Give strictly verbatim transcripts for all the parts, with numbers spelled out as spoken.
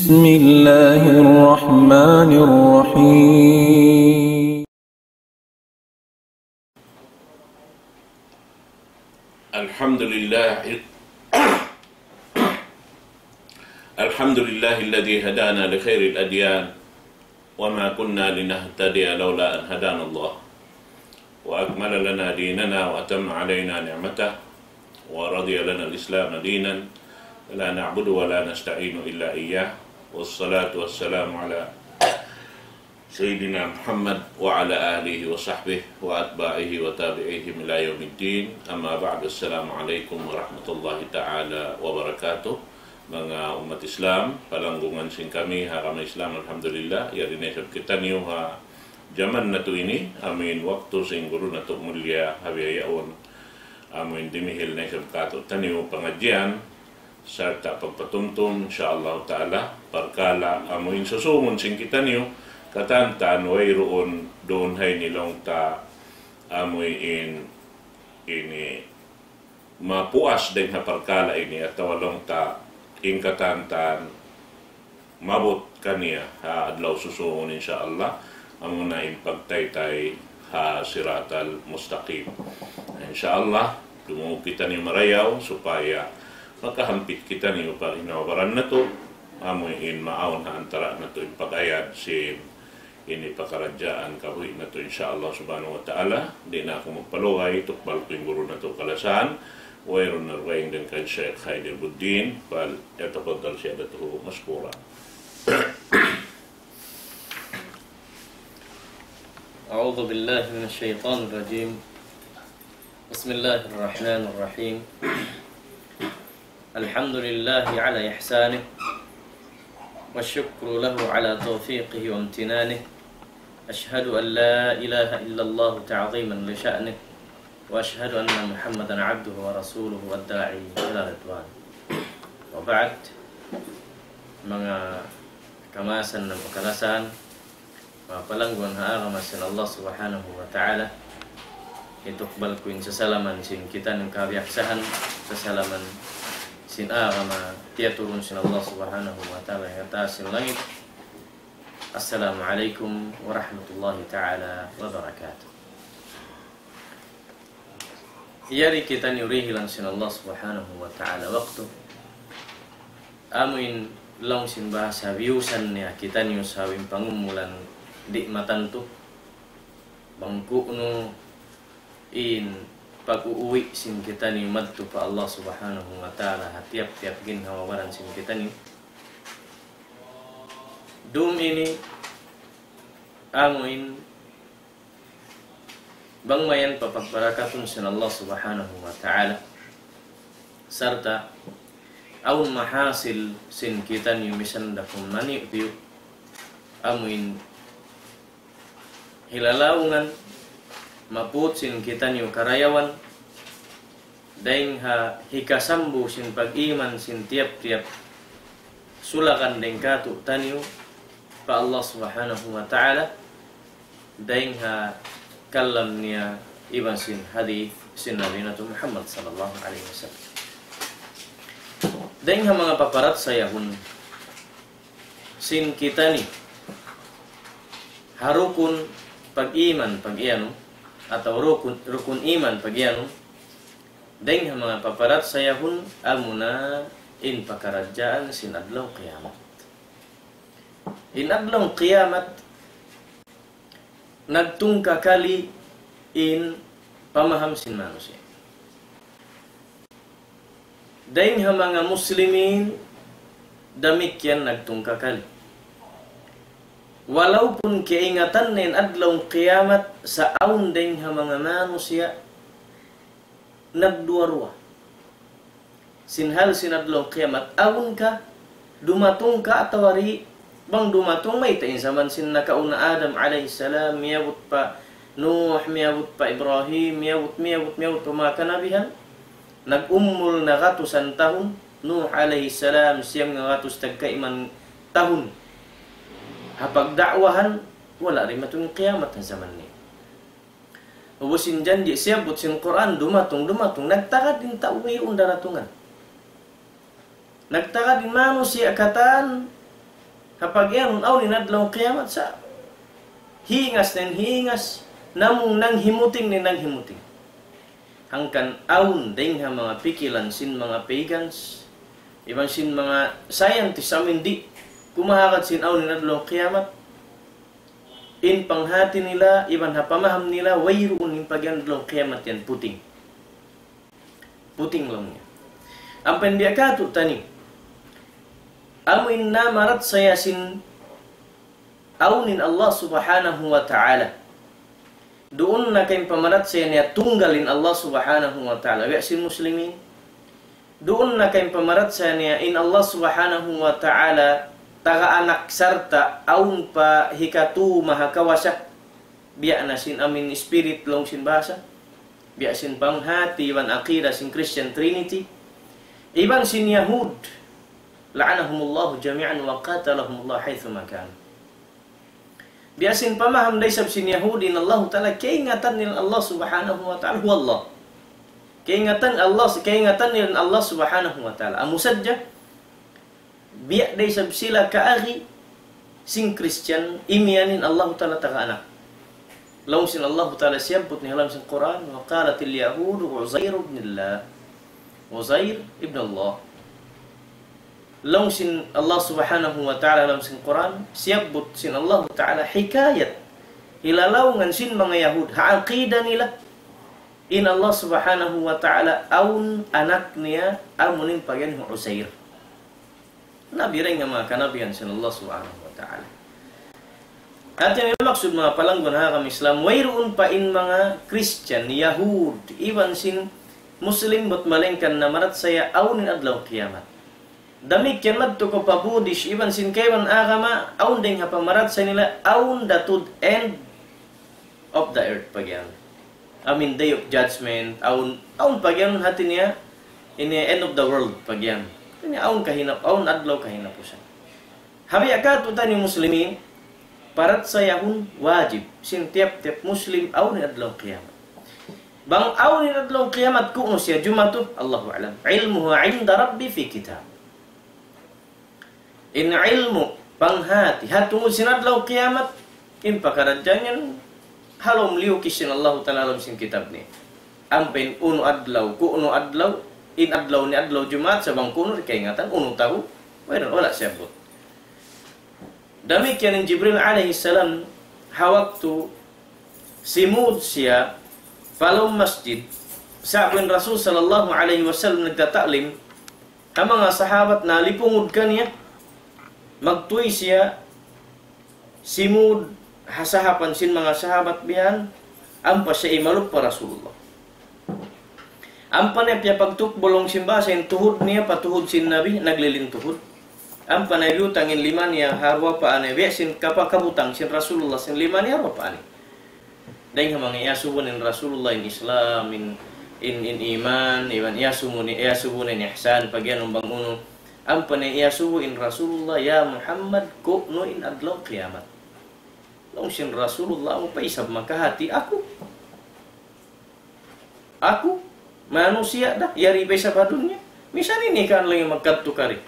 بسم الله الرحمن الرحيم. الحمد لله. الحمد لله الذي هدانا لخير الأديان وما كنا لنهتدي لولا أن هدانا الله وأكمل لنا ديننا وأتم علينا نعمته ورضي لنا الإسلام دينا لا نعبد ولا نستعين إلا إياه والصلاة والسلام على سيدنا محمد وعلى آله وصحبه وأتباعه وتابعيهم إلى يوم الدين. أما بعد، السلام عليكم ورحمة الله تعالى وبركاته. Manga ummat Islam, palanggungan sin kami ha agama Islam, alhamdulillah, yari na isab kitaniyu ha jaman natu' ini, amuin waktu sin guru natu' mulia ha bihaun, amuin dimihil na isab kātu'niyu pangadjian, sarta' pagpatumtum, insya Allah Ta'ala, parkala' amuin susungun sin kitaniyu, katantan wayruun duun ha ini laung ta amuin ini mapuas dayn ha parkala' ini atawa laung ta in katantan maabut kaniya ha adlaw susungun, insya Allah, amuna in pagtaytay ha siratal mustaqim. Insya Allah, dumungug kitaniyu marayaw supaya makahampit kitaniyu pa ginhawa-baran natu', amuin maawn ha antara' natu' in pag-ayad sin ini pakaradjaan kabuhi' natu', insya Allah subhanahu wa ta'ala. Di' na aku magpalugay, tukbal ku in guru natu' kalasahan, wayruun na dugaing dayn kan Sheikh Haider Buddin, فليتفضل سيادته مشكورا. أعوذ بالله من الشيطان الرجيم. بسم الله الرحمن الرحيم. الحمد لله على إحسانه، والشكر له على توفيقه وامتنانه. أشهد أن لا إله إلا الله تعظيما لشأنه، وأشهد أن محمدا عبده ورسوله والداعي إلى رضوانه. وبعد، manga kamaasan na kalasahan, manga palangguan ha agama sin Allah Subhanahu wa Ta'ala, hitukbal ku in sasalaman sin kitaniyu kabiyaksahan, sasalaman sin agama tiyaturun sin Allah Subhanahu wa Ta'ala ha taas sin langit. Assalamu alaykum warahmatullahi ta'ala wabarakatuh. Yari kitaniyu dihilan sin Allah Subhanahu wa Ta'ala waktu. Amuin laung sin bahasa biyusan niya kitaniyu sabab in pangumulan di' matantu. Bang ku'nu in pag-uwi' sin kitaniyu madtu pa Allah Subhanahu wa Ta'ala ha tiyap-tiyap ginhawa-baran sin kitaniyu. Dum ini amuin bang mayan papagbarakatun sin Allah Subhanahu wa Ta'ala. Sarta' awn mahasil sin kitaniyu misan da kunu' maniyu'-tiyu'. Amuin hilalaungan maput sin kitaniyu karayawan, dayn ha hikasambu sin pag-iman sin tiyap-tiyap sulakan dayn kātu'niyu pa Allah Subhanahu wa Ta'ala, dayn ha kalam niya iban sin hadith sin Nabi natu' Muhammad sallallahu alayhi wasallam. Dayn ha manga paparachayahun sin kitaniyu ha rukun pag-iman pag-iyanun, atawa rukun, rukun iman pag-iyanun, dayn ha manga paparachayahun amuna in pakaradjaan sin adlaw kiyamat. In adlaw kiyamat, nagtungkakali in pamaham sin manusiya'. Dayn ha manga muslimin, damikkiyan nagtungkakali. Walaupun kaingatan na in adlaw kiyamat sa' awn dayn ha manga manusiya' nagduwa-ruwa sin hal sin adlaw kiyamat, awn ka, dumatung ka atawa di'. Bang dumatung, mayta' in jaman sin nakauna Adam alayhi salam, miyabut pa Nuh, miyabut pa Ibrahim, miyabut, miyabut, miyabut pa manga kanabihan. Nag-umul na gatusan tahun, Nuh alayhi salam, siyam nga gatus tagkaiman tahun ha pagda'wahan, wala' dimatung kiyamat ha jaman niya. Ubus in janji' siyabbut sin Qur'an, dumatung, dumatung, nagtagad in tau wayruun daratungan. Nagtagad in manusiya' katan, Kapag yan, awn in adlaw kiyamat sa, hingas na in hingas, namung nanghimuting na in nanghimuting. Hangkan awn dayng ha manga pikilan sin manga pagans, iban sin manga scientist amu in di' kumahagad sin awn in adlaw kiyamat. In panghati nila, iban ha pamaham nila, wayruun in pag-adlaw kiyamat yan, puting. Puting laung niya. Ampa in biya' katu' tani. Amu in namarachaya sin awn in Allah Subhanahu wa Ta'ala. Duun na ka in pamarachaya niya tunggal in Allah Subhanahu wa Ta'ala. Biya' sin Muslimin. Duun na ka in pamarachaya niya in Allah Subhanahu wa Ta'ala taga anak sarta' awn pa hikatu maha kawasa. Biya' na sin amu in spirit laung sin bahasa. Biya' sin panghati iban akida sin Christian Trinity. Iban sin Yahud. لعنهم الله جميعا وقاتلهم الله حيثما كانوا. Biya' sin pamaham da isab sin Yahudi in Allahu Ta'ala, kaingatan nila Allah Subhanahu wa Ta'ala, huwa Allah. Kaingatan Allah, kaingatan nila in Allah Subhanahu wa Ta'ala. Amu sadja, biya' da isab sila kaagi sin Christian, imiyan in Allahu Ta'ala taga anak. Laung sin Allahu Ta'ala siyabbut niya ha lawm sin Qur'an, وقالت اليهود عزير ابن الله. Uzair ibn Allah. Laung sin Allah Subhanahu wa Ta'ala ha lawm sin Qur'an, siyabbut sin Allah Ta'ala hikayat, hilalaungan sin manga Yahud, ha aqida nila. In Allah Subhanahu wa Ta'ala awn anak niya, amu in pagiyanun Uzair. Nabi dayn ha manga kanabihan sin Allah Subhanahu wa Ta'ala. Hati niya maksud manga palanggun ha agama Islam, wayruun pa in manga Christian, Yahud, iban sin Muslim bat malaingkan namarachaya awn in adlaw kiyamat. Damikkiyan madtu kaw pa Buddhist, iban sin kaibanan agama, awn dayng ha pamarachaya nila, awn the third end of the earth pagiyanun. I mean, day of judgment, awn, awn pagiyanun hati niya, ini end of the world pagiyanun. Ini awn kahinap-, awn adlaw kahinapusan. Ha biya' katu' taniyu Muslimin, parachayahun wajib sin tiyap-tiyap Muslim awn in adlaw kiyamat. Bang awn in adlaw kiyamat, ku'nu siya jumatu, Allahu a'lam. علمها عند ربي في كتاب. In ilmu', panghati, ha tungud sin adlaw kiyamat, in pakaradjaan yan, ha lawm liyukis sin Allahu Ta'ala ha lawm sin kitab niya. Ampa in unu adlaw, ku'nu adlaw, in adlaw niya adlaw Jumaat, sa' bang ku'nu di' kaingatan, unu tahu, wala', wala' siyabbut. Damikkiyan in Jibril alayhi salam, ha waktu simud siya pa lawm masjid, sa'bu in Rasul sallallahu alayhi wasallam nagtata'lim, ha manga sahabat nalipungud kaniya, magtuy siya, simud ha sahapan sin manga sahabat bihan, ampa siya imalup pa Rasulullah. Ampa niya piyapagtukbul laung sin bahasa in tuhud niya pa tuhud sin Nabi, nagliling tuhud. Ampa niya biyutang in lima niya ha duwa paa niya, biya' sin kapakabutang sin Rasulullah sin lima niya ha duwa paa niya. Dayng ha manga iyasubu in Rasulullah in Islam, in, in, in iman, iban iyasubu in, iyasubu in ihsan, pagiyanun bang unu. Ampa niya iyasubu in Rasulullah, "Ya Muhammad, ku'nu in adlaw kiyamat?" Laung sin Rasulullah, "Amu pa isab makahati aku. Aku, manusiya' da, yari pa isab ha dunya. Misan ini kan lagi' magkadtu kari.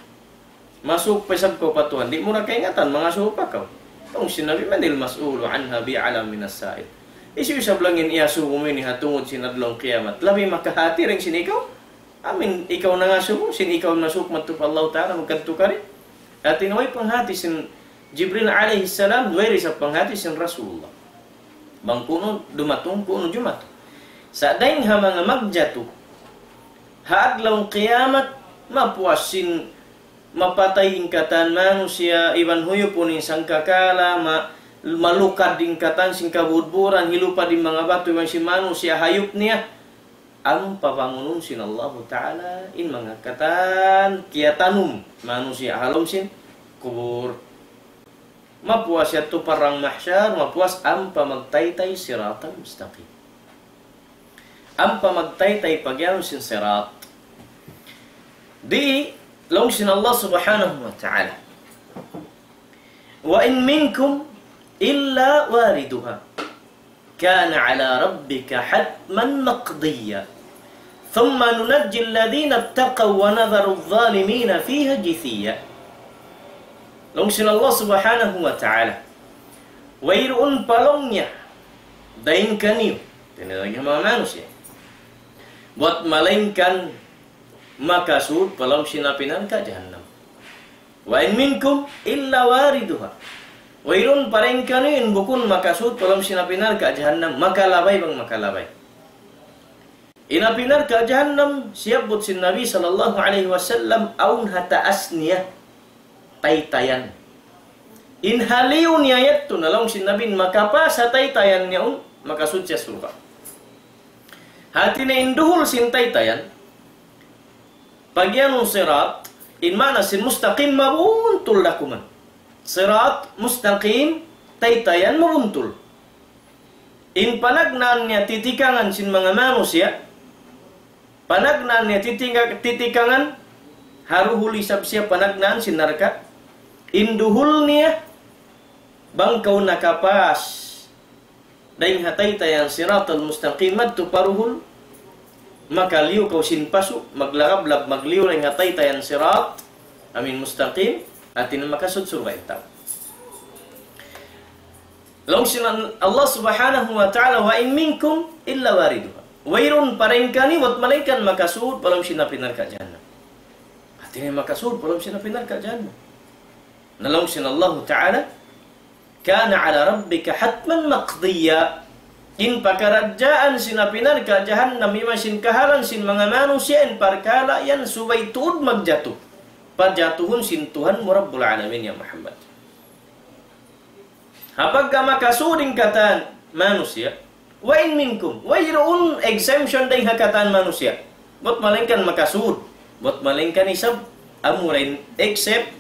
Masuuk pa isab kaw pa Tuhan, di' mu na kaingatan, mangasubu pa kaw." Laung sin Nabi, "من المسؤول عنها بأعلم من السائل." Hisiyu isab laung in iyasubu mu ini ha tungud sin adlaw kiyamat, labi makahati dayn sin ikaw? Amu in ikaw nangasubu, sin ikaw masuuk madtu pa Allah Ta'ala, magkadtu kari. Hati niya way panghati sin Jibril alayhi salam, way da isab panghati sin Rasulullah. Bang ku'nu dumatung, ku'nu jumatu. Sa' dayng ha manga magjatu ha adlaw kiyamat, mapuas sin mapatay in katan manusiya', iban huyupun in sangkakala, ma-, malukad in katan sin kabudburan, hilupad in manga batu, iban sin manusiya' hayup niya. Ampa bangunun sin Allahu Ta'ala in manga katan kiyatanum manusiya' ha lawm sin kubul. Mapuas yadtu parang mahsyar, mapuas ampa magtaytay siratal mustaqim. Ampa magtaytay pagiyanun sin sirat. Di' laung sin Allah Subhanahu wa Ta'ala, وإن منكم إلا واردها كان على ربك حتما مقضيا ثم ننجي الذين اتقوا ونذر الظالمين فيها جثيا. Laung sin Allah Subhanahu wa Ta'ala, wayruun pa laung niya dayn kaniyu, tinatagih manga manusiya', buat malaingkan makasud pa lawm sin api narka' jahannam. وإن منكم إلا واردها. Wayruun pa dayn kaniyu in bukun makasud pa lawm sin api narka' jahannam, makalabay bang makalabay. In api narka' jahannam, siyabbut sin Nabi sallallahu alayhi wasallam, awn ha taas niya taytayan. In ha liyu niya yadtu, na laung sin Nabi, in makapas ha taytayan niya yaun, makasud siya surga'. Hati niya in duhul sin taytayan, pag-iyanun sirat, in maana sin mustaqim, mabuntul da kuman. Sirat, mustaqim, taytayan, mabuntul. In panagnaan niya titikangan sin manga manusiya', panagnaan niya titinga-, titikangan, ha duhul isab siya panagnaan sin narka'. In duhul niya, bang kaw nakapas dayn ha taytayan siratal mustaqim madtu pa duhul, makaliyu kaw sin pasu', maglagablab, magliyu dayn ha taytayan sirat, amin mustaqim, hati niya makasud surga' in tau. Laung sin Allah Subhanahu wa Ta'ala, وإن منكم إلا واردها. Wayruun pa dayn kaniyu bat malaingkan makasud pa lawm sin api narka' jahannam. Hati niya makasud pa lawm sin api narka' jahannam. Na laung sin Allah Ta'ala, كان على ربك حتما مقضيا. In pakaradjaan sin api narka' jahannam, iban sin kahalan sin manga manusiya', in parkala' yan subay tuud magjatu. Pajatuhun sin Tuhan mu Rabbul Alamin, ya Muhammad. Apabila makasud in katan manusiya', وإن منكم, wayruun exemption dayn ha katan manusiya'. Bat malaingkan makasud, bat malaingkan isab, amu ra in except,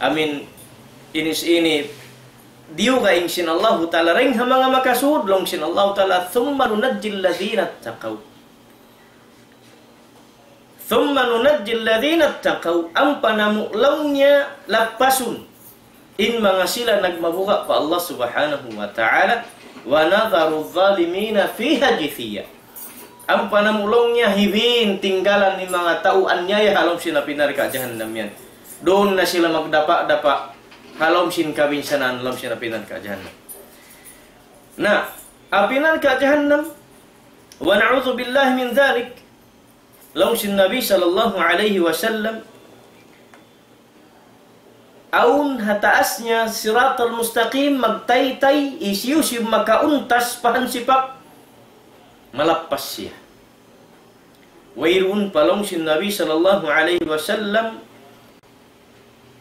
amin, inis ini, diyugaing sin Allahu Ta'ala dayn ha manga makasud, laung sin Allahu Ta'ala, ثم ننجي الذين اتقوا. ثم ننجي الذين اتقوا, ampa namu' laung niya lappasun in manga sila nagmabuga' pa Allah Subhanahu wa Ta'ala, ونذر الظالمين فيها جثيا. Ampa namu' laung niya hibin tinggalan in manga tau anyaya ha lawm sin api narka' jahannam yan. Duun na sila magdapa'-dapa' ha lawm sin kabinsanaan, ha lawm sin api narka' jahannam. Na, api narka' jahannam, ونعوذ بالله من ذلك, laung sin Nabi sallallahu alayhi wasallam, awn ha taas niya siratal mustaqim, magtaytay, hisiyu-siyu makauntas pa hansipak, malappas siya. Wayruun pa laung sin Nabi sallallahu alayhi wasallam,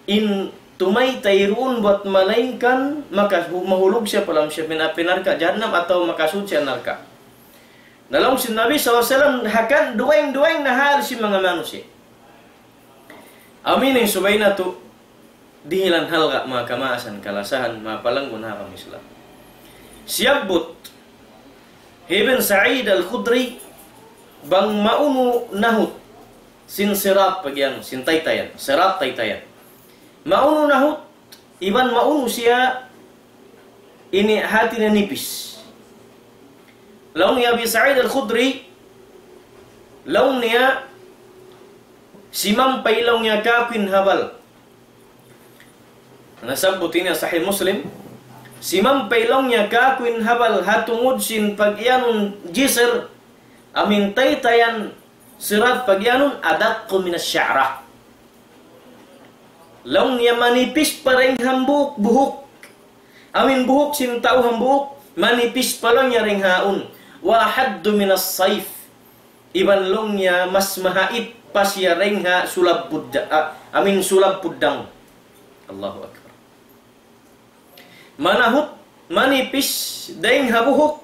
in tumaytay duun bat malaingkan maka-, mahulug siya pa lawm sin api narka' jahannam atawa makasud siya narka'. Na laung sin Nabi sallallahu alayhi wasallam, hangkan dugaing-dugaing na hal sin manga manusiya'. Amu ini in subay natu' dihilan halga', manga kamaasan, kalasahan, manga palanggun ha agama Islam. Siyabbut hi Ibn Sa'id Al-Khudri, bang maunu nahut sin sirat, pag-iyanun, sin taytayan, sirat, taytayan. Maunu nahut, iban maunu siya ini hati niya nipis. Laung hi Abi Sa'id Al-Khudri, laung niya, simampay laung niya kāku' in habal. Nasabbut ini ha Sahih Muslim. Simampay laung niya kāku' in habal ha tungud sin pag-iyanun jisr, amu in taytayan sirat, pag-iyanun أدق من الشعرة. Laung niya manipis pa dayn hambuuk buhuk. Amu in buhuk sin tau hambuuk, manipis pa laung niya dayn ha yaun. وأحد من السيف. Iban laung niya mas mahait pa siya dayn ha sulab pudda-, ah, amu in sulab puddang. Allahu Akbar. Manahut, manipis dayn ha buhuk,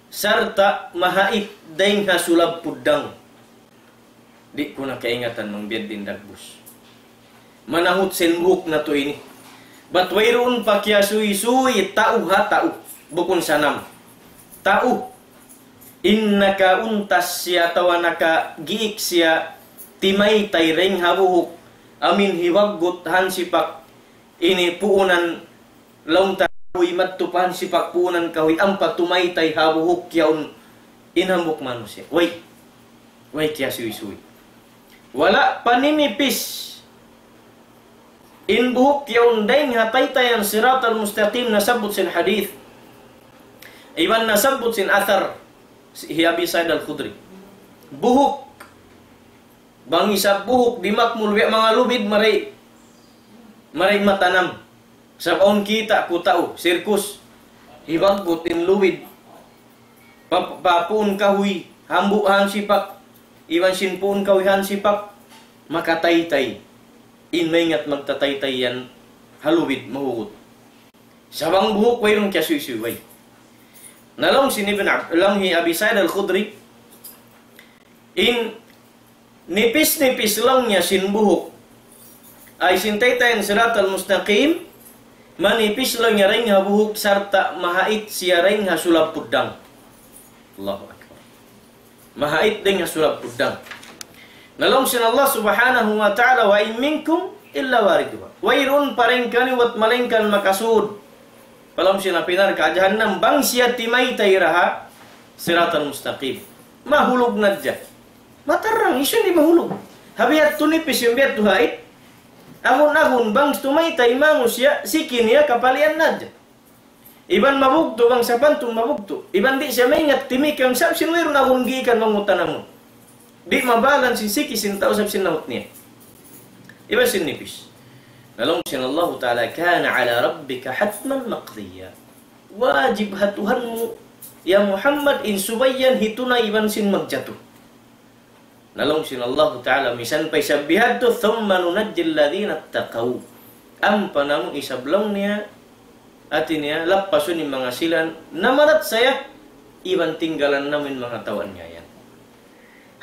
sarta' mahait dayn ha sulab puddang. Di' ku na kaingatan bang biya' diin dagbus. Manahut sin buhuk natu' ini. Bat wayruun pa kiyasuysuy, tau ha tau. Bukun sanam. Tau. In nakauntas siya atawa nakagiik siya, timaytay dayn ha buhuk, amu in hiwaggut hansipak, ini puunan laung ta kahuy madtu pa hansipak puunan kahuy ampa tumaytay ha buhuk yaun in hambuuk manusiya'. Way. Way kiyasuysuy. Wala' pa ninipis. In buhuk yaun dayng ha taytayan Siratal Mustaqim nasabbut sin hadith. Iban nasabbut sin athar hi Abi Sa'id Al-Khudri. Buhuk. Bang isab buhuk di' makmul, biya' manga lubid mari, mari matanam. Sabab awn kita' ku tau, circus. Hibaggut in lubid. Pa, pa puun kahuy, hambuuk hansipak. Iban sin puun kahuy hansipak. Makataytay. In maingat magtataytay yan ha lubid mahugut. Sabab in buhuk wayruun kiyasuysuy way. Na laung sin Ibn Ab-, laung hi Abi Sa'id Al-Khudri, in nipis-nipis laung niya sin buhuk, ay sin taytayan Siratal Mustaqim, manipis laung niya dayng ha buhuk sarta' mahait siya dayng ha sulab puddang. Allahu Akbar. Mahait dayng ha sulab puddang. Na laung sin Allah Subhanahu wa Ta'ala, وإن منكم إلا واردها. Wayruun pa dayng kaniyu bat malaingkan makasud pa lawm sin api narka' jahannam bang siya timaytay da ha Siratal Mustaqim. Mahulug na sadja. Matarrang, hisiyu in di' mahulug? Ha biya' tu nipis, in biya' tu hait. Agun-agun bang tumaytay manusiya', siki niya kapalian na sadja. Iban mabugtu' bang sapantun mabugtu'. Iban di' siya maingat timikam sabab sin wayruun agun giikan mangutanamun. Di' mabalan sin siki sin tau sabab sin nahut niya. Iban sin nipis. Na laung sin Allahu Ta'ala, كان على ربك حتما مقضيا. Wajib ha Tuhanmu, ya Muhammad, in subay yan hitunay iban sin magjatu. Na laung sin Allahu Ta'ala, misan pa isab bihadtu, ثم ننجي الذين اتقوا. Ampa namu' isab laung niya, hati niya, lappasun in manga sila namarachaya, iban tinggalan namu' in manga tau aniyaya.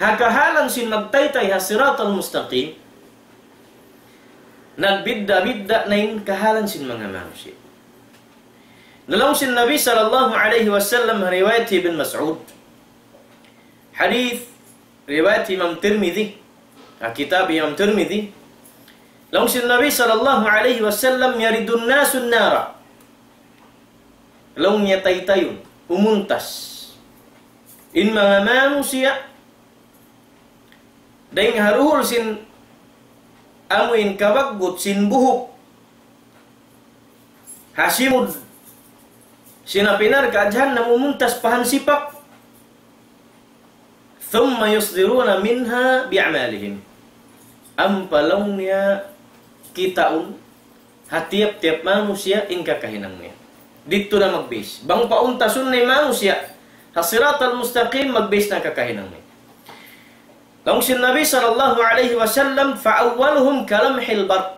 Ha kahalan sin magtaytay ha Siratal Mustaqim, nagbidda'-bidda' na in kahalan sin manga manusiya'. Na laung sin Nabi sallallahu alayhi wasallam, riwayat Ibn Mas'ud. Hadith riwayat Imam Tirmidhi. Ha kitab Imam Tirmidhi. Laung sin Nabi sallallahu alayhi wasallam, يرد الناس النار. Laung niya taytayun, umuntas in manga manusiya', dayng ha duhul sin amuin kabaggut sin buhuk, ha simud sin api narka' jahannam umuntas pa hansipak. ثم يصدرون منها بأعمالهم. Ampa laung niya kitaun ha tiyap-tiyap manusiya' in kakahinang niya. Didtu na mag-base. Bang pauntasun na in manusiya' ha Siratal Mustaqim, mag-base na kakahinang niya. Laung sin Nabi sallallahu alayhi wasallam, فأولهم كلمح البرق.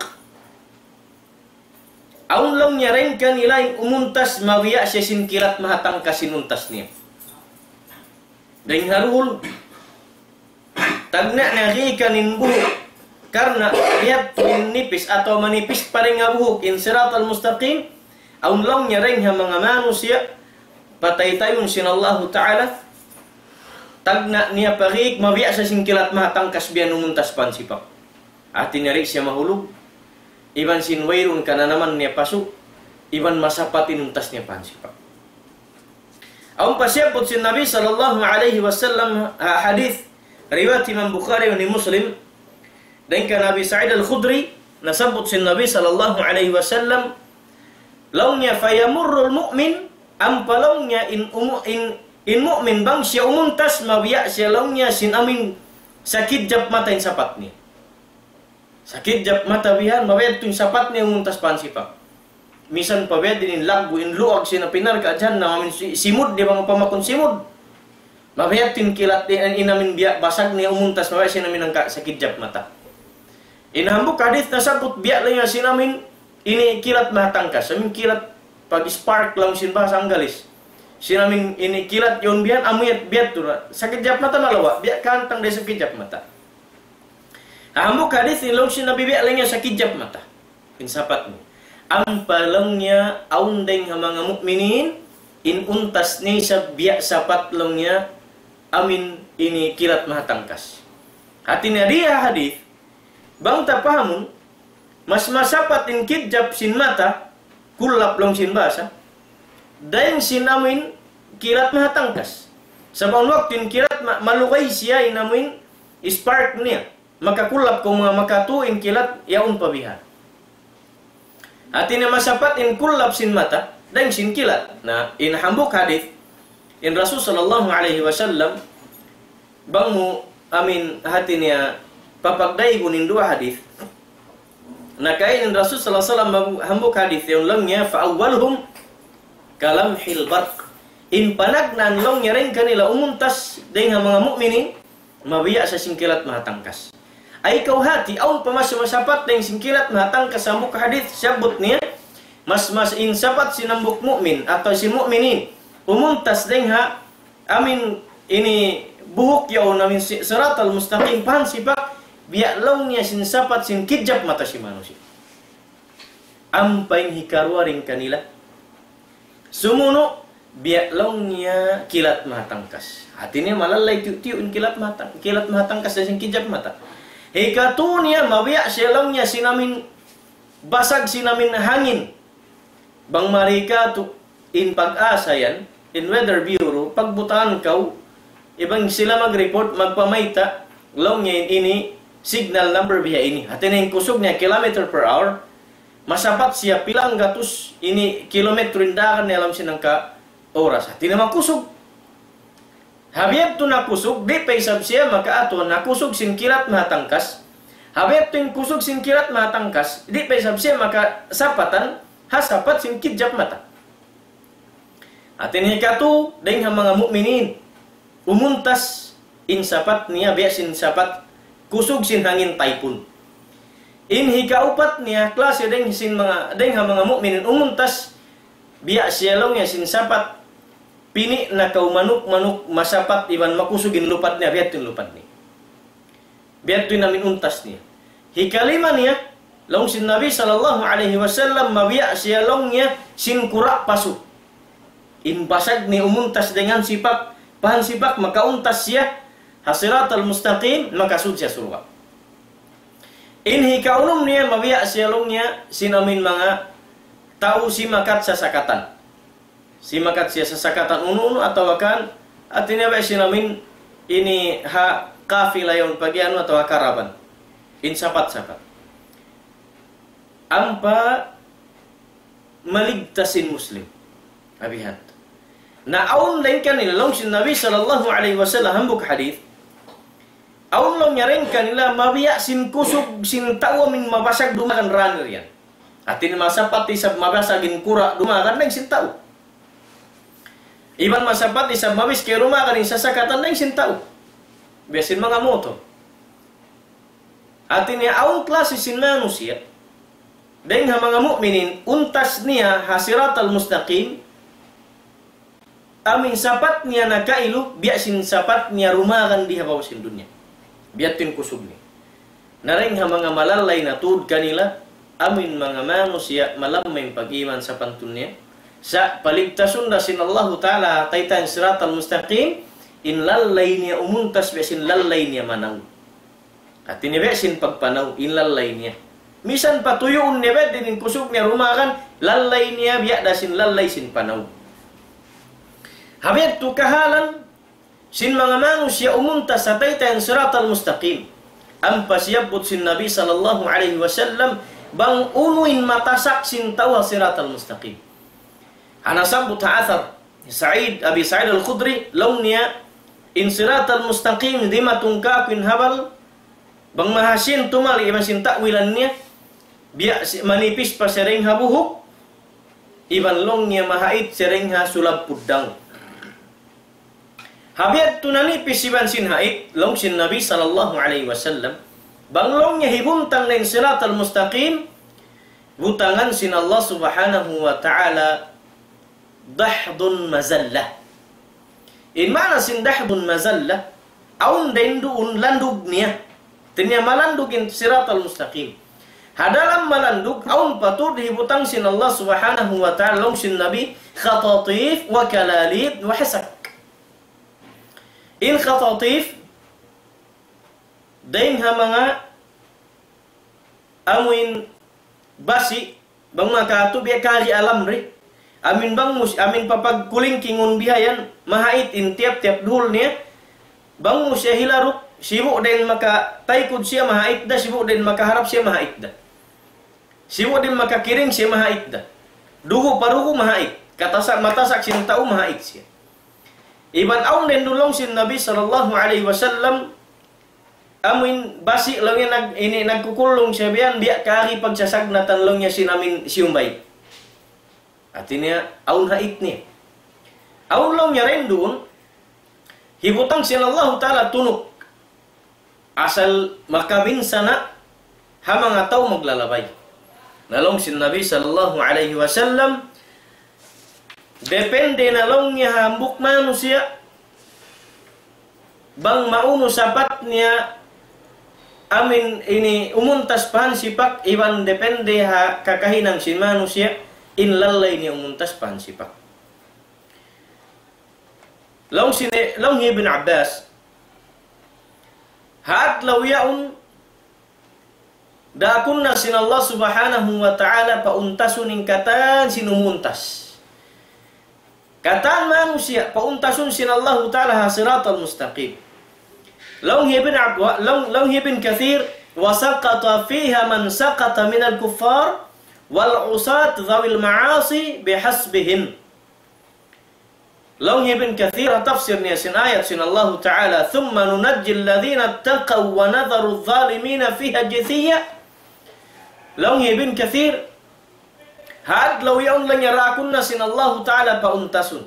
Awn laung niya dayng kanila in umuntas mabiya' siya sin kilat mahatangkas in untas niya. Dayng ha duhul, tagna' niya giikan in buhuk. Karna' biyadtu in nipis atawa manipis pa dayng ha buhuk in Siratal Mustaqim. Awn laung niya dayng ha manga manusiya', pataytayun sin Allahu Ta'ala, tagna' niya pa giik mabiya' siya sin kilat mahatangkas biya' umuntas pa hansipak. Hati niya di' siya mahulug, iban sin wayruun kananaman niya pasu', iban masapat in untas niya pa hansipak. Awn pa siyabbut sin Nabi sallallahu alayhi wasallam ha hadith riwayat Imam Bukhari wa Muslim, dayng kan Abi Sa'id Al-Khudri, nasabbut sin Nabi sallallahu alayhi wasallam, laung niya, فيمر المؤمن, ampa laung niya in umu-, in, in mu'min bang siya umuntas, mabiya' siya laung niya sin amuin sakidjap mata in sapat niya. Sakidjap mata bihan, mabiya' tuud in sapat niya umuntas pa hansipak. Misan pa biya' diin in laggu', in luag sin api narka' jahannam, amuin si-, simud, di' ba, mapama kun simud. Mabiya' tuud in kilat, in, in amuin biya' basag niya umuntas, mabiya' sin amuin hangka sakidjap mata. In hambuuk hadith nasabbut biya' laung niya sin amuin ini kilat mahatangkas. Amuin kilat pag-spark laung sin bahasa Anggalis. Sin amuin ini kilat yaun bihan, amuin biya' tuud. Sakidjap mata malawa', biya' kahantang da isab kidjap mata. Hambuuk hadith ini laung sin Nabi biya' laung niya sakidjap mata in sapat niya. Ampa laung niya awn dayng ha manga mu'minin, in untas niya isab biya' sapat laung niya amuin ini kilat mahatangkas. Hati niya di ha hadith, bang ta pahamun, mas masapat in kidjap sin mata, kullap laung sin bahasa, dayng sin amuin kilat mahatangkas. Sabab awn waktu in kilat ma-, malugay siya in amuin spark niya. Makakullap kaw manga makatu in kilat yaun pa bihan. Hati niya masapat in kullap sin mata, dayn sin kilat. Na, in hambuuk hadith, in Rasul sallallahu alayhi wasallam, bang mu amin hati niya papagdaygun in duwa hadith. Na kain in Rasul sallallahu alayhi wasallam hambuuk hadith, yaun laung niya, فأولهم كلمح البرق. In panagnaan laung niya dayn kanila umuntas dayn ha manga mu'minin, mabiya' sa sin kilat mahatangkas. Ay kaw hati, awn pa mas masapat dayn sin kilat mahatangkas hambuuk hadith, siyabbut niya, mas, mas in sapat sin hambuuk mu'min, atawa sin mu'minin, umuntas dayn ha amin ini buhuk yaun amin si-, siratal mustaqim, pahan sipak, biya' laung niya sin sapat sin kijap mata sin manusiya'. Ampa in hikaruwa dayn kanila. Sumunu', biya' laung niya kilat mahatangkas. Hati niya malallay tiyu'-tiyu' in kilat mahatang-, kilat mahatangkas dayn sin kijap mata. Hikatu niya, mabiya' siya laung niya sin amin basag sin amin hangin. Bang mari katu' in Pag-asa yan, in Weather Bureau, pagbutangan kaw, iban sila mag-report, magpamayta', laung niya in ini, signal number biya' ini. Hati niya in kusug niya kilometer per hour, masapat siya pila nggatus ini kilometro in dagan niya ha lawm sin hangka oras. Hati niya makusug. Ha biya' yadtu nakusug, di' pa isab siya makaatu, nakusug sin kilat mahatangkas. Ha biya' yadtu in kusug sin kilat mahatangkas, di' pa isab siya makasapatan, ha sapat sin kijap mata. Hati niya hikatu, dayn ha manga mu'minin, umuntas in sapat niya, biya' sin sapat, kusug sin hangin taypun. In hikaupat niya, klase dayn sin manga, dayn ha manga mu'minin, umuntas, biya' siya laung niya sin sapat, pini' na kaw manuk-manuk masapat iban makusug in lupad niya, biya' yadtu in lupad niya. Biya' yadtu in amin untas niya. Hikalima niya, laung sin Nabi sallallahu alayhi wasallam, mabiya' siya laung niya sin kura' pasu. In basag niya umuntas dayn ha sipak, pahan sipak, makauntas siya, ha siratal mustaqim, makasud siya surga'. In hikaunum niya, mabiya' siya laung niya, sin amin manga tau simakat sasakatan. Simakat siya sasakatan unu-unu atawa kan, hati niya biya' sin amin ini ha kafila yaun pag-iyanun atawa karaban. In sapat-sapat. Ampa maligtas in Muslim. Abihat. Na awn dayn kanila laung sin Nabi sallallahu alayhi wasallam hambuuk hadith. Awn laung niya dayn kanila mabiya' sin kusug sin tau amin mabasag dumagan runner yan. Hati niya masapat isab mabasag in kura' dumagan dayn sin tau. Iban masapat isab mabiskay dumagan in sasakatan dayn sin tau. Biya' sin manga motor. Hati niya awn klase sin manusiya'. Dayn ha manga mu'minin, untas niya ha siratal mustaqim, amin sapat niya nakailu, biya' sin sapat niya dumagan di ha babaw sin dunya. Biya' yadtu in kusug niya. Na dayn ha manga malallay na tuud kanila, amin manga manusiya' malamma in pag-iman sapantun niya. Sa' paligtasun da sin Allahu Ta'ala ha taytan siratal mustaqim, in lallay niya umuntas biya' sin lallay niya manaw. Hati niya biya' sin pagpanaw, in lallay niya. Misan patuyuun niya biya' diin in kusug niya dumagan, lallay niya biya' da sin lallay sin panaw. Ha biya' yadtu kahalan sin manga manusiya' umuntas ha taytan siratal mustaqim. Ampa siyabbut sin Nabi sallallahu alayhi wasallam, bang unu in matasak sin tau ha siratal mustaqim. Ha nasabbut ha athar, Sa'id, Abi Sa'id Al-Khudri, laung niya, in siratal mustaqim, dimatung kāku' in habal, bang mahasin tumali iban sin ta'wilan niya, biya' si-, manipis pa siya dayn ha buhuk, iban laung niya mahait siya dayn ha sulab puddang. Ha biya' yadtu nanipis iban sin hait, laung sin Nabi sallallahu alayhi wasallam, bang laung niya hibuntang na in siratal mustaqim, butangan sin Allah subhanahu wa ta'ala dahdun mazallah. In maana sin dahdun mazallah, awn dayn duun landug niya. Hati niya malandug in siratal mustaqim. Ha dalam malandug, awn pa tuud hibutang sin Allah subhanahu wa ta'ala, laung sin Nabi, khatatif wa kalalib wa hasak. In khatatif, dayn ha manga amuin basi', bang makatu biya' kari alam ri. Amin bang mus-, amin papagkulingkingun bihayan, mahait in tiyap-tiyap duhul niya. Bang mu siya hilaruk, sibu' dayn makataykud siya mahait da, sibu' dayn makaharap siya mahait da. Sibu' di' makakiring siya mahait da. Dugu' pa dugu' mahait. Katasa-, matasak sin tau mahait siya. Iban awn din duun laung sin Nabi sallallahu alayhi wasallam, amuin basi' laung niya nag-, ini nagkukulung siya biyan, biya' kari pagsasagnatan laung niya sin amuin siyumbay. Hati niya, awn hait niya. Awn laung niya dayn duun, hibutang sin Allahu Ta'ala tunuk. Asal makabinsana' ha manga tau maglalabay. Na laung sin Nabi sallallahu alayhi wasallam, depende na laung niya ha hambuuk manusiya', bang maunu sapat niya amuin ini umuntas pa hansipak, iban depende ha kakahinang sin manusiya', in lallay niya umuntas pa hansipak. Laung sin, laung hi Ibn Abbas, ha adlaw yaun, daakun na sin Allah Subhanahu wa Ta'ala pauntasun in katan sin umuntas. Katan manusiya', pauntasun sin Allahu Ta'ala ha siratal mustaqim. Laung hi Ibn Ab-, wa-, laung, laung hi Ibn Kathir, وسقط فيها من سقط من الكفار والعصاة ذوي المعاصي بحسبهم. Laung hi Ibn Kathir, ha tafsir niya sin ayat sin Allahu Ta'ala, ثم ننجي الذين اتقوا ونذر الظالمين فيها جثيا. Laung hi Ibn Kathir, ha adlaw yaun laung niya daakun na sin Allahu Ta'ala pauntasun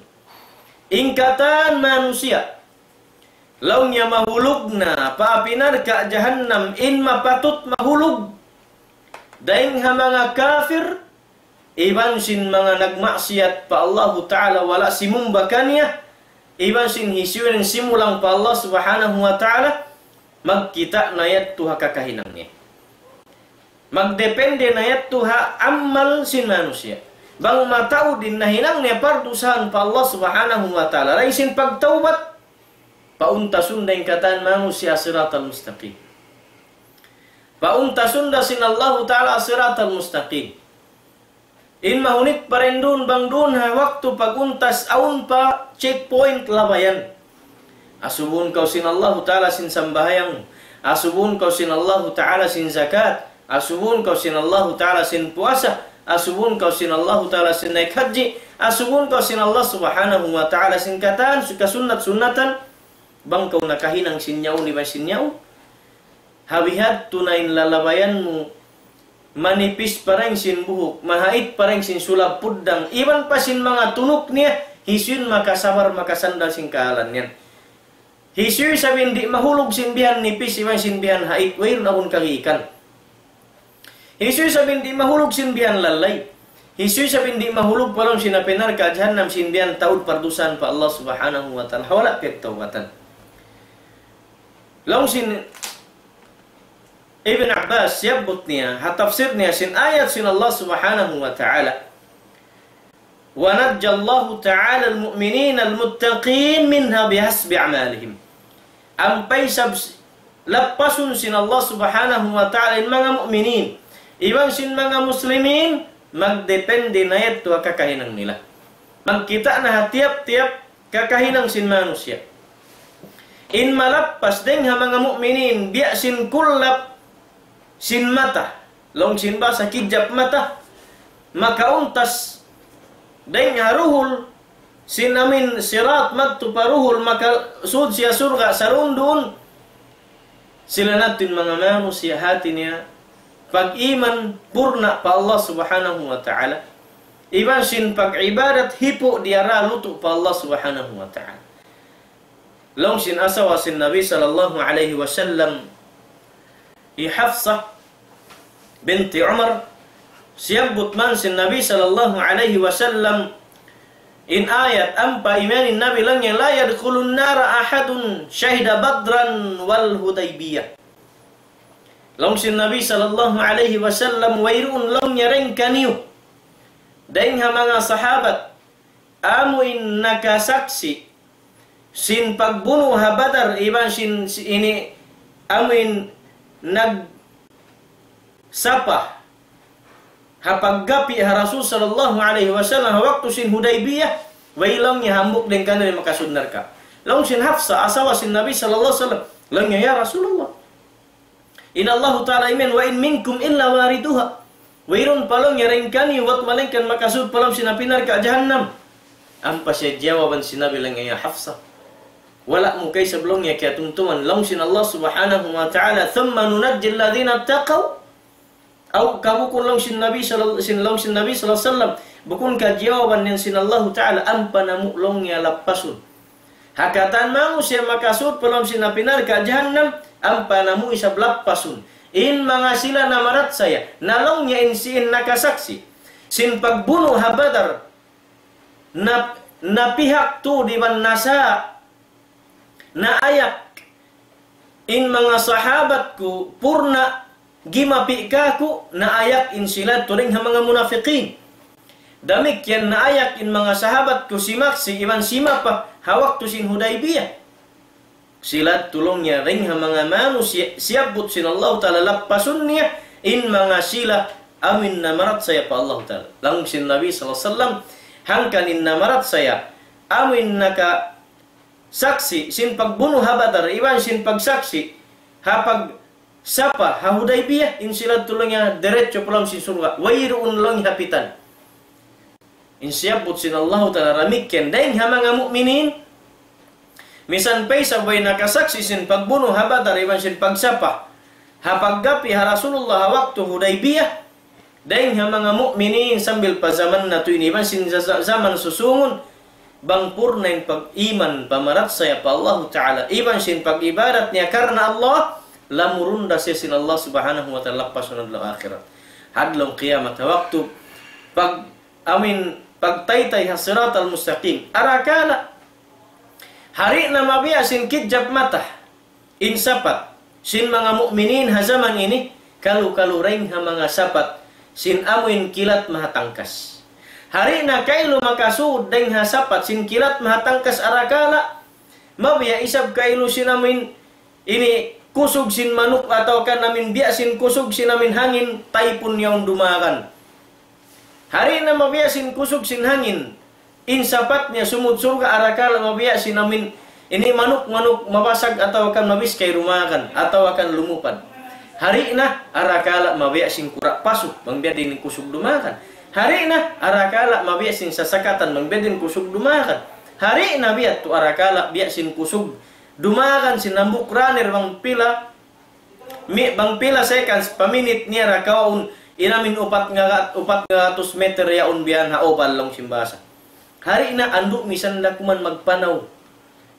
in katan manusiya'. Laung niya mahulug na pa api narka' jahannam in mapatut mahulug. Dayn ha manga kafir, iban sin manga nagmaksiyat pa Allahu Ta'ala wala' simumba kaniya, iban sin hisiyu in simulang pa Allah Subhanahu wa Ta'ala, magkita' na yadtu ha kakahinang niya. Magdepende na yadtu ha amal sin manusiya'. Bang mataud in nahinang niya pardusahan pa Allah Subhanahu wa Ta'ala, dayn sin pagtawbat, pauntasun da in katan manusiya' siratal mustaqim. Pauntasun da sin Allahu Ta'ala siratal mustaqim. In mahunit pa dayn duun bang duun ha waktu pag-untas awn pa checkpoint labayan. Asubuhun kaw sin Allahu Ta'ala sin sambahayang. Asubuhun kaw sin Allahu Ta'ala sin zakat. Asubuhun kaw sin Allahu Ta'ala sin puasa. Asubuhun kaw sin Allahu Ta'ala sin naik haji. Asubuhun kaw sin Allah Subhanahu wa Ta'ala sin katan, su-, kasunnat-sunnatan. Bang kaw nakahinang sin yaun iban sin yaun. Ha bihadtu na in lalabayan mu, manipis pa dayn sin buhuk, mahait pa dayn sin sulab puddang, iban pa sin manga tunuk niya, hisiyu in makasabar, makasandal sin kahalan yan. Hisiyu isab in di' mahulug sin bihan nipis, iban sin bihan hait, wayruun agun kagikan. Hisiyu isab in di' mahulug sin bihan lallay. Hisiyu isab in di' mahulug pa lawm sin api narka' jahannam sin bihan taud pardusahan pa Allah Subhanahu wa Ta'ala. Wala' piyagtawbatan. Laung sin Ibn Abbas, siyabbut niya, ha tafsir niya sin ayat sin Allah Subhanahu wa Ta'ala. ونجى الله تعالى المؤمنين المتقين منها بحسب أعمالهم. Ampa isab s-, lappasun sin Allah Subhanahu wa Ta'ala in manga mu'minin, iban sin manga muslimin, magdepende na yadtu ha kakahinang nila. Magkita' na ha tiyap-tiyap kakahinang sin manusiya'. In malappas dayn ha manga mu'minin, biya' sin kullap sin mata, laung sin bahasa kijap mata, makauntas dayn ha duhul sin amuin sirat madtu pa duhul, makasud siya surga' sarundun. Sila na yadtu in manga manusiya' hati niya pag-iman purna' pa Allah Subhanahu wa Ta'ala, iban sin pag-ibadat hipu' diyara lutu' pa Allah Subhanahu wa Ta'ala. Laung sin asawa sin Nabi sallallahu alayhi wasallam, hi Hafsa binti Umar, siyabbut man sin Nabi sallallahu alayhi wasallam in ayat, ampa imiyan in Nabi laung niya, لا يدخل النار أحد شهد بدرا والحديبية. Laung sin Nabi sallallahu alayhi wasallam, wayruun laung niya dayn kaniyu, dayn ha manga sahabat, amuin nakasaksi' sin pagbunu' ha Badar, iban sin, si-, ini, amuin nagsapa ha paggapi' ha Rasul sallallahu alayhi wasallam, ha waktu sin Hudaybiyah, way laung niya hambuuk dayn kaniyu in makasud narka'. Laung sin Hafsa, asawa sin Nabi sallallahu alayhi wasallam, laung niya, "Ya Rasulullah, in Allahu Ta'ala imiyan, وإن منكم إلا واردها." Wayruun pa laung niya dayn kaniyu, bat malaingkan makasud pa lawm sin api narka' jahannam. Ampa siya jawaban sin Nabi laung niya, "Ya Hafsa, wala' mu kaisab laung niya kiyatumtuman laung sin Allah Subhanahu wa Ta'ala, ثم ننجي الذين اتقوا." Aw, ka bukun laung sin Nabi sallal-, sin laung sin Nabi sallallahu alayhi wasallam, bukun ka jawaban niya sin Allahu Ta'ala, ampa namu' laung niya lappasun. Ha katan manusiya' makasud pa lawm sin api narka' jahannam, ampa namu' isab lappasun. In manga sila namarachaya, na laung niya in sila nakasaksi' sin pagbunu' ha Badar, na, napihak tuud iban nasa, naayak in manga sahabat ku purna gimapi' kaku', naayak in sila tuud dayn ha manga munafiqin. Damikkiyan naayak in manga sahabat ku simaksi' iban simapa ha waktu sin Hudaybiyah. Sila tuud laung niya dayn ha manga manusiya' siyabbut sin Allahu Ta'ala lappasun niya, in manga sila amuin namarachaya pa Allahu Ta'ala. Laung sin Nabi sallallahu alayhi wasallam, hangkan in namarachaya, amuin nakasaksi' sin pagbunu' ha Badar, iban sin pagsaksi' ha pagsapa ha Hudaybiyah, in sila tuud laung niya diretso pa lawm sin surga'. Wayruun laung niya hapitan. In siyabbut sin Allahu Ta'ala damikkiyan dayn ha manga mu'minin, misan pa isab way nakasaksi' sin pagbunu' ha Badar iban sin pagsapa ha paggapi' ha Rasulullah ha waktu Hudaybiyah, dayn ha manga mu'minin sambil pa jaman natu' ini iban sin za-, za-, jaman susungun, bang purna in pag-iman pamarachaya pa Allahu Ta'ala, iban sin pag-ibadat niya karna' Allah, lamurun da siya sin Allah Subhanahu wa Ta'ala lappasun adlaw akhirat. Ha adlaw kiyamat, ha waktu pag- amuin pagtaytay ha Siratal Mustaqim. Arakala', ha di' na mabiya' sin kidjap mata in sapat sin manga mu'minin ha jaman ini, kalu-kalu dayn ha manga sapat sin amuin kilat mahatangkas. Ha di' na kailu makasud dayn ha sapat sin kilat mahatangkas arakala', mabiya' isab kailu sin amuin ini kusug sin manuk atawa kan amuin biya' sin kusug sin amuin hangin, taypun yaun dumagan. Ha di' na mabiya' sin kusug sin hangin, in sapat niya sumud surga' arakala' mabiya' sin amuin ini manuk-manuk mabasag atawa kan mabiskay dumagan atawa kan lumupad. Ha di' na arakala' mabiya' sin kura' pasu, bang biya' diin in kusug dumagan. Ha di' na arakala' mabiya' sin sasakatan, bang biya' diin kusug dumagan. Ha di' na biya' tu arakala' biya' sin kusug dumagan sin hambuuk runner bang pila, mi-, bang pila seconds, pa minit niya ra kawaun, in amuin upat nga gat-, upat nga gatus meter yaun biya' ha oval laung sin bahasa. Ha di' na andu' misan da kuman magpanaw.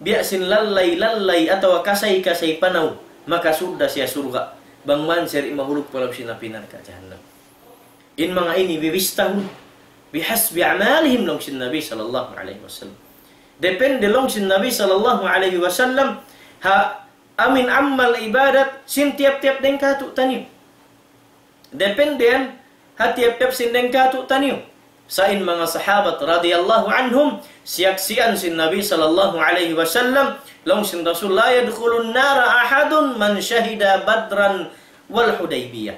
Biya' sin lallay-lallay atawa kasay-kasay panaw, makasud da siya surga'. Bang man siya di' mahulug pa lawm sin api narka' jahannam. In manga ini bibistahun, بحسب أعمالهم laung sin Nabi sallallahu alayhi wasallam. Depende laung sin Nabi sallallahu alayhi wasallam, ha amuin amal ibadat sin tiyap-tiyap dayn kātu'niyu. Depende yan ha tiyap-tiyap sin dayn kātu'niyu. Sa' in manga sahabat radiyallahu anhum, siyaksian sin Nabi sallallahu alayhi wasallam, laung sin Rasul, لا يدخل النار أحد من شهد بدرا والحديبية.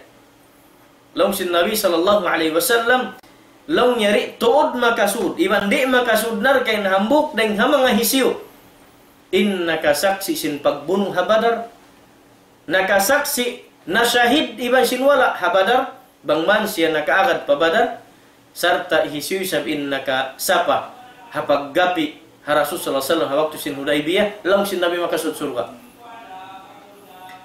Laung sin Nabi sallallahu alayhi wasallam, laung niya di' tuud makasud, iban di' makasud narka' in hambuuk dayn ha manga hisiyu in nakasaksi' sin pagbunu' ha Badar, nakasaksi', nashahid iban sin wala' ha Badar, bang man siya nakaagad pa Badar, sarta' hisiyu isab in nakasapa ha paggapi' ha Rasul sallallahu alayhi wasallam ha waktu sin Hudaybiyah, laung sin Nabi makasud surga'.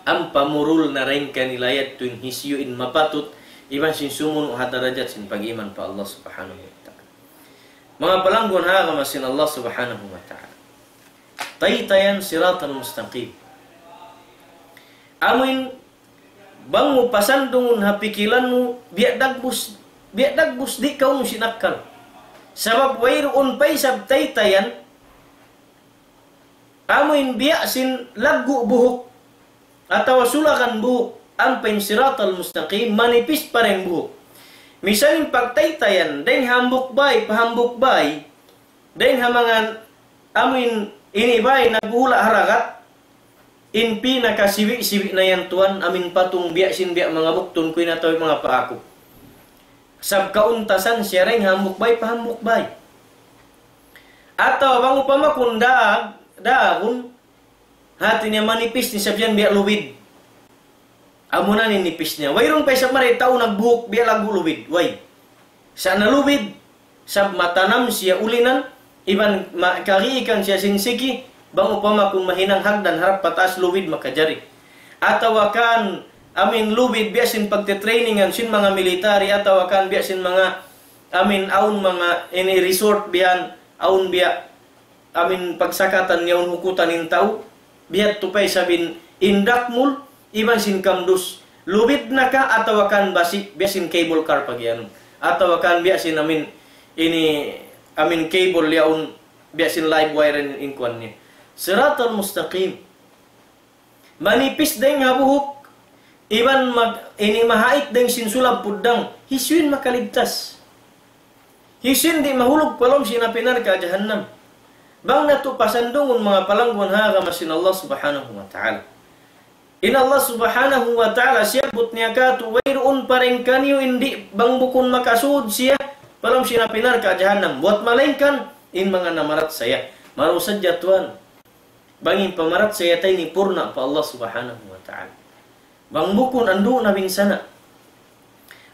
Ampa murul na dayn kanila yadtu in hisiyu in mapatut, iban sin sumunu' ha darajat sin pag-iman pa Allah Subhanahu wa Ta'ala. Manga palangguan ha agama sin Allah Subhanahu wa Ta'ala. Taytayan Siratal Mustaqim. Amuin bang mu pasandungun ha pikilan mu, biya' dagbus, biya' dagbus di' kaw mu sinakkal. Sabab wayruun pa isab taytayan, amuin biya' sin laggu' buhuk, atawa sulagan buhuk, ampa in Siratal Mustaqim, manipis pa dayn buhuk. Misan in pagtaytayan, dayn hambuuk bay, pa hambuuk bay, dayn ha manga amuin ini bay, naghuhula' ha dagat, in pinakasiwi'-siwi' na yan tuwan, amuin patung biya' sin biya' manga buktun kuy na tau manga paaku. Sab kauntasan siya dayn hambuuk bay pa hambuuk bay. Atawa bang upama kun daag, daagun, hati niya manipis ni sab yan biya' lubid. Amuna in nipis niya. Wayruun pa isab mari tau nagbuhuk, biya' laggu' lubid. Way. Sa' na lubid, sab matanam siya ulinan, iban ma-, kariikan siya sin siki, bang upama kung mahinang hagdan harap pataas lubid makajari. Atawa kan, amin lubid biya' sin pagtitrainingan sin manga military, atawa kan biya' sin manga, amin awn manga ini resort biya' yan, awn biya' amin pagsakatan niya awn hukutan in tau, biya' tu pa isab in dakmul, iban sin kamdus. Lubid na ka atawa kan basi', biya' sin cable car pag-iyanun. Atawa kan biya' sin amin, ini, amin cable yaun, biya' sin live wire in, in kuwan niya. Siratal mustaqim. Manipis dayng ha buhuk, iban mag-, ini mahait dayng sin sulab puddang, hisiyu in makalibtas? Hisiyu in di' mahulug pa lawm sin api narka' jahannam? Bang natu' pasandungun manga palangguan ha agama sin Allah Subhanahu wa Ta'ala. In Allah Subhanahu wa Ta'ala siyabbut niya katu', wayruun pa dayng kaniyu in di' bang bukun makasud siya pa lawm sin api narka' jahannam. Buwat malaingkan in manga namarachaya. Marayaw sadja tuwan. Bang in pamarachaya ta ini purna' pa Allah Subhanahu wa Ta'ala. Bang bukun andu' na binsana'.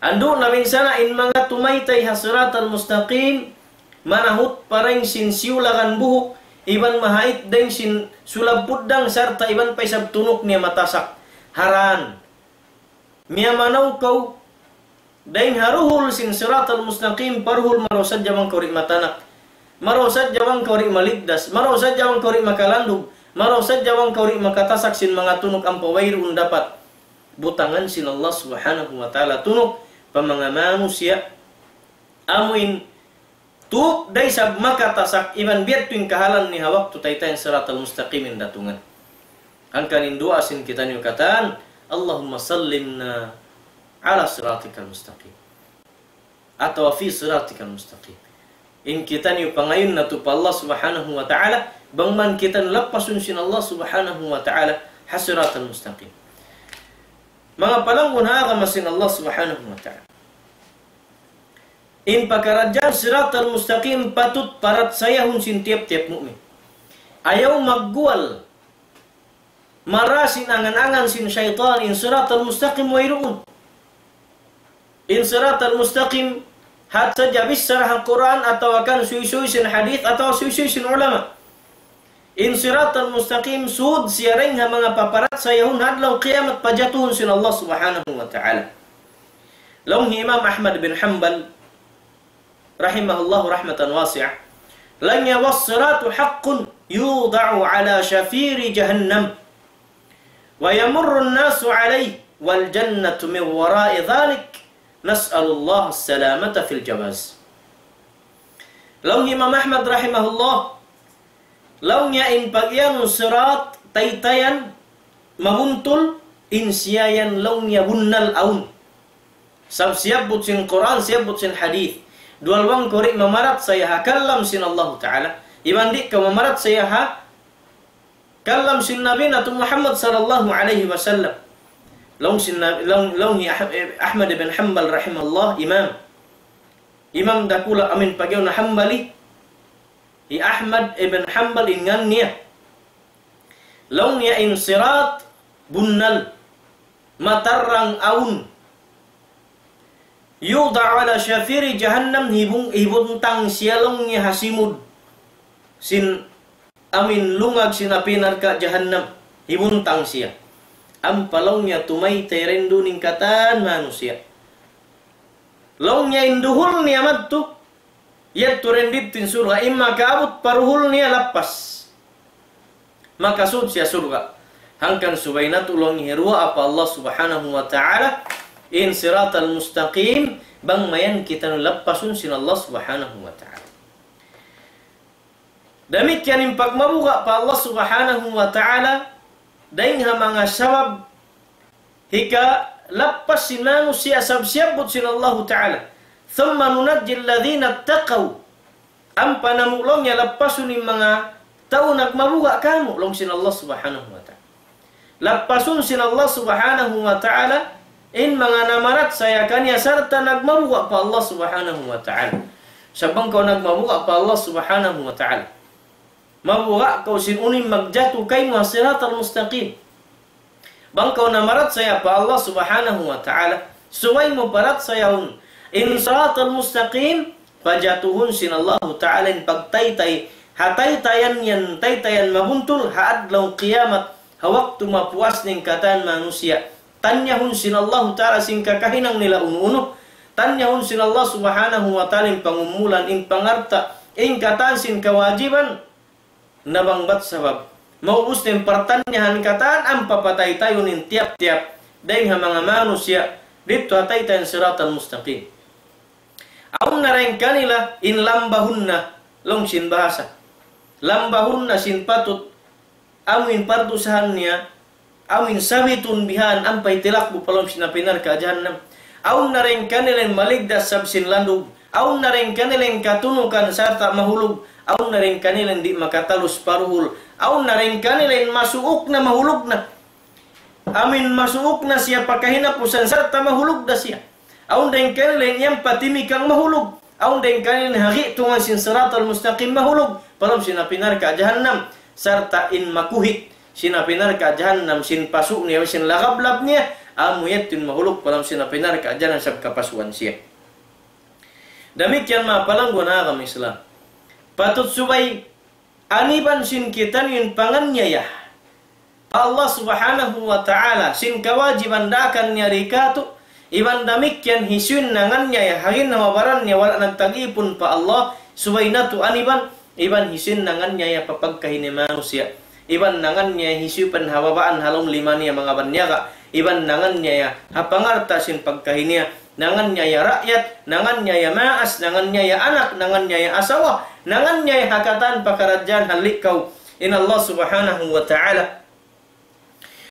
Andu' na binsana' in manga tumaytay ha siratal mustaqim, manahut pa dayng sin siyulagan buhuk, iban mahait dayng sin sulab puddang sarta' iban pa isab tunuk niya matasak. Haran. Miyamanaw kaw, dayng ha duhul sin siratal mustaqim, pa duhul marayaw sadja bang kaw di' matanak. Marayaw sadja bang kaw di' maligdas. Marayaw sadja bang kaw di' makalandug. Marayaw sadja bang kaw di' makatasak sin manga tunuk ampa wayruun dapat butangan sin Allah Subhanahu wa Ta'ala tunuk pa manga manusiya'. Amuin tup da isab makatasak iban biya' tu in kahalan niya ha waktu taytayan siratal mustaqim in datungan. Hangkan in duwaa sin kitaniyu katan, اللهم سلمنا على صراطك المستقيم. Atawa في صراطك المستقيم. In kitaniyu pangayuun natu' pa Allah Subhanahu wa Ta'ala, bang man kitaniyu lappasun sin Allah Subhanahu wa Ta'ala, ha siratal mustaqim. Manga palangguan ha agama sin Allah Subhanahu wa Ta'ala. In pakaradjaan siratal mustaqim patut parachayahun sin tiyap-tiyap mu'min. Ayaw magguwal mara sin angan-angan sin saytan in siratal mustaqim wayruun. In siratal mustaqim hat sadja bichara ha Qur'an atawa kan suysuy sin hadith atawa suysuy sin ulama. In siratal mustaqim sud siya dayng ha manga paparachayahun ha adlaw kiyamat pajatuhun sin Allah Subhanahu wa Ta'ala. Laung hi Imam Ahmad bin Hanbal, rahimahullahu rahmatan wasi'ah, laung niya, والصراط حق يوضع على شفير جهنم ويمر الناس عليه والجنة من وراء ذلك نسأل الله السلامة في الجواز. Laung hi Imam Ahmad rahimahullah, laung niya in pag-iyanun sirat, taytayan, mabuntul, in siya yan laung niya bunnal awn. Sabab siyabbut sin Qur'an, siyabbut sin hadith. Duwal bang kaw di' mamarachaya ha kalam sin Allahu Ta'ala, iban di' kaw mamarachaya ha kalam sin Nabi natu' Muhammad sallallahu alayhi wasallam. Laung sin Nabi, laung, laung hi Ah-, eh, Ahmad ibn Hanbal rahimahullah, imam. Imam dakula' amin pag-iyanun Hanbali. Hi Ahmad ibn Hanbal in ngan niya. Laung niya in sirat bunnal, matarrang awn. يوضع على شفير جهنم, hibung-, hibuntang siya laung niya ha simud sin amin lungag sin api narka' jahannam. Hibuntang siya. Ampa laung niya tumaytay duun in katan manusiya'. Laung niya in duhul niya madtu, yadtu didtu in surga', in makaabut pa duhul niya lappas. Makasud siya surga'. Hangkan subay natu' laung niya hiruwaa pa Allah Subhanahu wa Ta'ala, in siratal mustaqim, bang mayan kitaniyu lappasun sin Allah Subhanahu wa Ta'ala. Damikkiyan in pagmabuga' pa Allah Subhanahu wa Ta'ala, dayng ha manga sabab hikalappas sin manusiya' sabab siyabbut sin Allahu Ta'ala. ثم ننجي الذين اتقوا. Ampa namu' laung niya lappasun in manga tau nagmabuga' kāmu', laung sin Allah Subhanahu wa Ta'ala. Lappasun sin Allah Subhanahu wa Ta'ala in manga namarachaya kaniya sarta' nagmabuga' pa Allah Subhanahu wa Ta'ala. Sa' bang kaw nagmabuga' pa Allah Subhanahu wa Ta'ala, mabuga' kaw sin unu in magjatu kaymu ha siratal mustaqim. Bang kaw namarachaya pa Allah Subhanahu wa Ta'ala, subay mu parachayahun in siratal mustaqim, pajatuhun sin Allahu Ta'ala in pagtaytay, ha taytayan yan, taytayan mabuntul, ha adlaw qiyamat, ha waktu mapuas in katan manusiya'. Tanyahun sin Allahu Ta'ala sin kakahinang nila unu-unu. Tanyahun sin Allah Subhanahu wa Ta'ala in pangumulan, in pangalta', in katan sin kawajiban, na bang bat sabab maubus na in partanyahan katan, ampa pataytayun in tiyap-tiyap dayn ha manga manusiya' didtu ha taytayan siratal mustaqim. Awn na dayn kanila in lambahun na, laung sin bahasa. Lambahun na sin patut, amu in pardusahan niya, amu in sabitun bihan ampa hitilak bu pa lawm sin api narka' jahannam. Awn na dayn kanila in maligdas sab sin landug. Awn na dayn kanila in katunukan sarta' mahulug. Awn na dayn kanila in di' makatalus pa duhul. Awn na dayn kanila in masuuk na mahulug na. Amu in masuuk na siya pa kahinapusan sarta' mahulug da siya. Awn dayn kanila in yan pa timikang mahulug. Awn dayn kanila in ha gi'tungan sin siratal mustaqim mahulug. Pa lawm sin api narka' jahannam. Sarta' in makuhit sin api narka' jahannam, sin pasu' niya, sin lagablab niya, amu yadtu in mahulug pa lawm sin api narka' jahannam sabab kapasuan siya. Damikkiyan manga palangguan ha agama Islam. Patut subay aniban sin kitaniyu in panganyaya pa Allah Subhanahu wa Ta'ala, sin kawajiban daakan niya di katu', iban damikkiyan hisiyu in nanganyaya, ha ginhawa-baran niya wala' nagtag-ipun pa Allah, subay natu' aniban, iban hisiyu in nanganyaya pa pagkahi niya manusiya', iban nanganyaya hisiyu pa in ha babaan ha lawm lima niya manga banyaga', iban nanganyaya ha pangalta' sin pagkahi niya, nanganyaya raayat, nanganyaya maas, nanganyaya anak, nanganyaya asawa, nanganyaya ha katan pakaradjaan halli' kaw in Allah Subhanahu wa Ta'ala.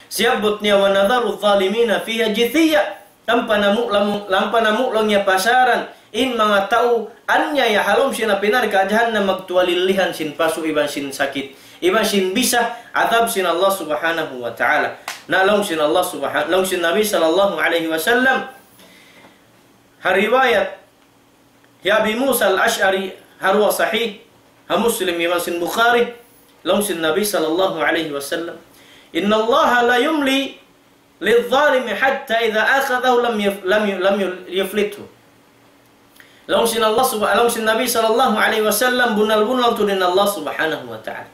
Siyabbut niya, "ونذر الظالمين فيها جثيا." Lampa namu', lamu-, lampa namu' laung niya pasaran in manga tau anyaya ha lawm sin api narka' jahannam magtuwalillihan sin pasu' iban sin sakit, iban sin bisa adab sin Allah Subhanahu wa Ta'ala. Na laung sin Allah Subhan-, laung sin Nabi sallallahu alayhi wasallam, ha riwayat hi Abi Musa al-Ash'ari, ha duwa sahih, ha Muslim iban sin Bukhari, laung sin Nabi sallallahu alayhi wasallam, "إن الله ليملي للظالم حتى إذا أخذه لم يف-، لم ي-، لم ي-، يفلته." Laung sin Allah subha-, laung sin Nabi sallallahu alayhi wasallam, bunnal-bunnal tuud in Allah Subhanahu wa Ta'ala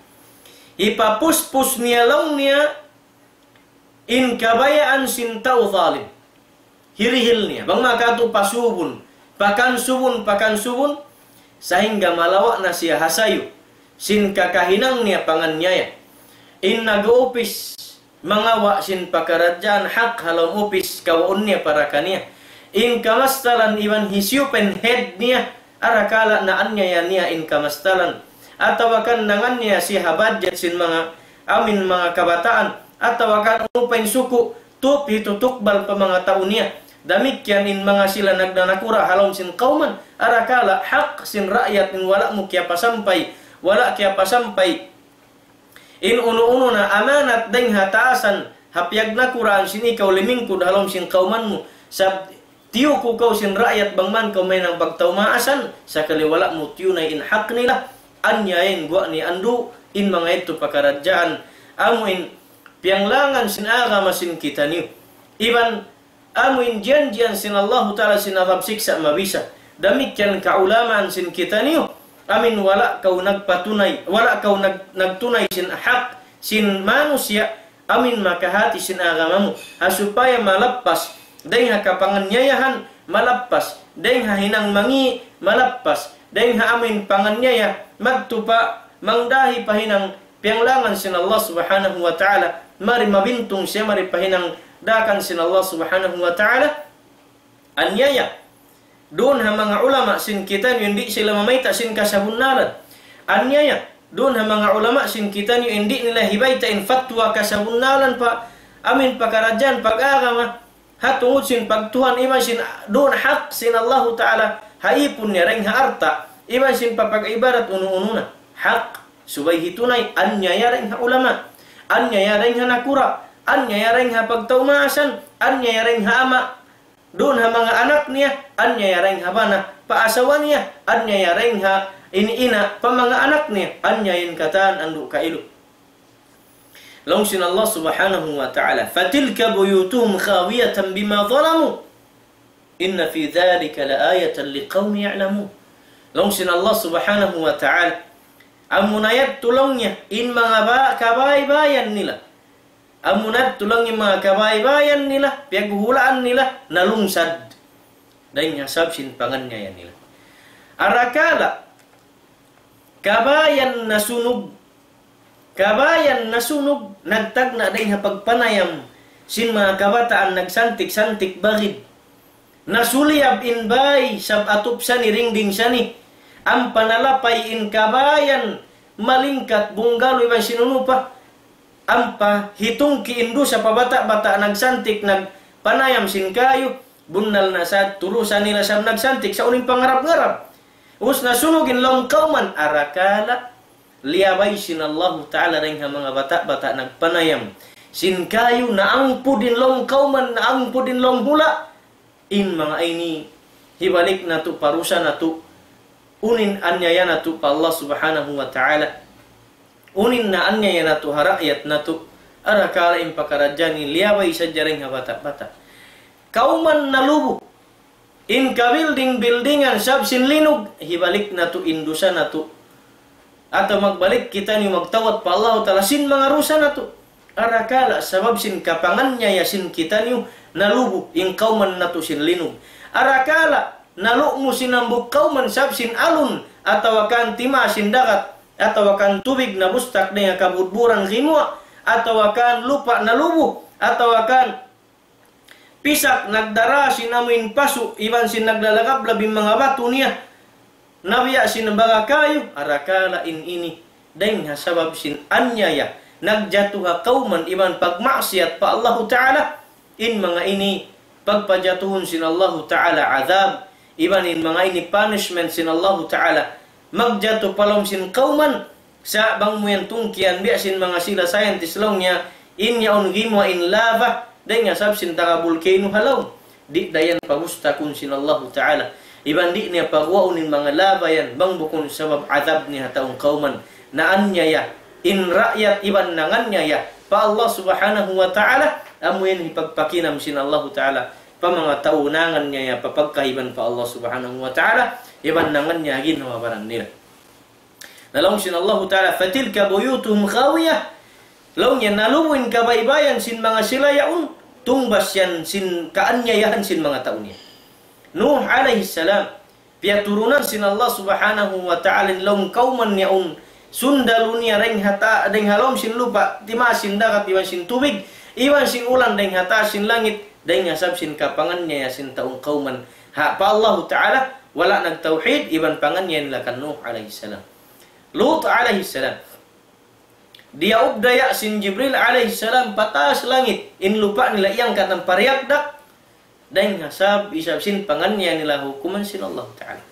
hipapuspus niya laung niya in kabayaan sin tau zalim. Hirihil niya. Bang makatu' pasubun, pakansubun, pakansubun, sahingga malawa' na siya ha sayu sin kakahinang niya panganyaya. In nag-uupis mangawa' sin pakaradjaan hak ha lawm upis kawaun niya para kaniya. In kamastalan iban hisiyu pa in head niya, arakala' naanyaya niya in kamastalan. Atawa kan nanganyaya siya ha budget sin manga amin manga kabataan. Atawa kan unu pa in suku', tup hitu tukbal pa manga tau niya. Damikkiyan in manga sila nagnanakura' ha lawm sin kawman. Arakala' hak sin raayat in wala' mu kiyapasampay, wala' kiyapasampay in unu-unu na amanat dayng ha taasan, ha piyagnakuraan sin ikaw limingkud ha lawm sin kawman mu. Sab tiyu' ku kaw sin raayat bang man kaw mahinang pagtaumaasan, sakali wala' mu tiyunay in hak nila, anyaya in guwa' niya andu', in manga yadtu pakaradjaan, amu in piyanglangan sin agama sin kitaniyu. Iban amu in janjian sin Allahu Ta'ala sin adab siksa' mabisa. Damikkiyan kaulamaan sin kitaniyu, amin wala' kaw nagpatunay, wala' kaw nag-, nagtunay sin hak sin manusiya', amin makahati sin agama mu. Ha supaya malappas dayng ha kapanganyayahan, malappas dayng ha hinang mangi', malappas dayng ha amin panganyaya, magtupa, mangdahi pa hinang piyanglangan sin Allah Subhanahu wa Ta'ala, mari mabintung siya, mari pa hinang daakan sin Allah Subhanahu wa Ta'ala. Anyaya duun ha manga ulama sin kitaniyu in di' sila mamayta' sin kasabunnalan. Anyaya duun ha manga ulama sin kitaniyu in di' nila hibayta' in fatwa kasabunnalan pa amin pakaradjaan pag-agama. Ha tungud sin pagtuhan iban sin duun hak sin Allahu Ta'ala ha ipun niya dayng ha alta', iban sin papag-ibadat unu-unu na. Hak, subay hitunay, anyaya dayng ha ulama, anyaya dayng ha nakura', anyaya dayng ha pagtaumaasan, anyaya dayng ha ama', duun ha manga anak niya, anyaya dayng ha bana pa asawa niya, anyaya dayng ha ini ina' pa manga anak niya, anyaya in katan andu' kailu. Laung sin Allah Subhanahu wa Ta'ala, فتلك بيوتهم خاوية بما ظلموا إن في ذلك لآية لقوم يعلمون. Laung sin Allah Subhanahu wa Ta'ala, amuna yadtu laung niya in manga ba-, kabaybayan nila. Amuna yadtu laung in manga kabaybayan nila, piyaghuhulaan nila, nalungsad. Dayn ha sabab sin panganiaya nila. Arakala', kabayan nasunug, kabayan nasunug, nagtagna' dayn ha pagpanayam sin manga kabataan nagsantik-santik bagid. Nasuliyab in bay, sab atup sani, dingding sani. Ampa nalapay in kabayan, malingkat, bungalow iban sin unu pa. Ampa hitungki' in dusa pa bata'-bata' nagsantik, nagpanayam sin kayu. Bunnal na sa turusan nila sab nagsantik, sa' unu in pangarap-ngarap. Ubus nasunug in lawm kawman, arakala' liyabay sin Allahu Ta'ala dayn ha manga bata'-bata' nagpanayam sin kayu, naangpud in lawm kawman, naangpud in lawm hula'. In manga ini, hibalik natu', parusa natu', unu in aniaya natu' pa Allah Subhanahu wa Ta'ala. Unu in naaniaya natu' ha raayat natu'. Arakala' in pakaradjaan ini liyabay sadja dayn ha bata'-bata'. Kawman nalubu in kabilding-bildingan sab sin linug, hibalik natu' in dusa natu'. Atawa magbalik kitaniyu magtawbat pa Allahu Ta'ala sin manga dusa natu'. Arakala' sabab sin kapanganiaya sin kitaniyu nalubu in kawman natu' sin linug. Arakala' nalumu sin hambuuk kawman sabab sin alun, atawa kan timaas sin dagat, atawa kan tubig nabustak dayn ha kabudburan gimuwa', atawa kan lupa' nalubu, atawa kan pisak nagdara sin amuin pasu', iban sin naglalagablab in manga batu niya. Nabiya' sin baga kayu, arakala' in ini. Dayn ha sabab sin aniaya, nagjatu ha kawman iban pagmaksiyat pa Allahu Ta'ala, in manga ini, pagpajatuhun sin Allahu Ta'ala adhab, iban in manga ini punishment sin Allahu Ta'ala, magjatu pa lawm sin kawman, sa' bang mu yan tungkian biya' sin manga sila scientist laung niya, in yaun gimuwa' in lava, dayn ha sabab sin taga bulkanu ha lawm. Di' da yan pabustakun sin Allahu Ta'ala. Iban di' niya paguwaun in manga lava yan, bang bukun sabab adhab niya ha taung kawman. Naaniaya, in raayat iban nanganiaya pa Allah Subhanahu wa Ta'ala, amu yan hipagpakinam sin Allahu Ta'ala pa manga tau nanganiaya pa pagkahi iban pa Allah Subhanahu wa Ta'ala, iban nanganiaya ha ginhawa baran nila. Na laung sin Allahu Ta'ala, فتلك بيوتهم خاوية. Laung niya nalubu in kabaybayan sin manga sila yaun, tungbas yan sin kaaniayahan sin manga tau niya. Nuh alayhi salam, piyaturunan sin Allah Subhanahu wa Ta'ala in lawm kawman yaun, sundalu niya dayn ha ta-, dayn ha lawm sin lupa', timaas sin dagat iban sin tubig, iban sin ulan dayn ha taas sin langit, dayn ha sabab sin kapanganiaya sin taung kawman. Ha, pa Allahu Ta'ala, wala' nagtawhid, iban panganiaya nila kan Nuh alayhi salam. Lut alayhi salam. Diyaubdaya sin Jibril alayhi salam pa taas langit, in lupa' nila iyangkat ampa riyagdak, dayn ha sabab isab sin panganiaya nila hukuman sin Allah Ta'ala.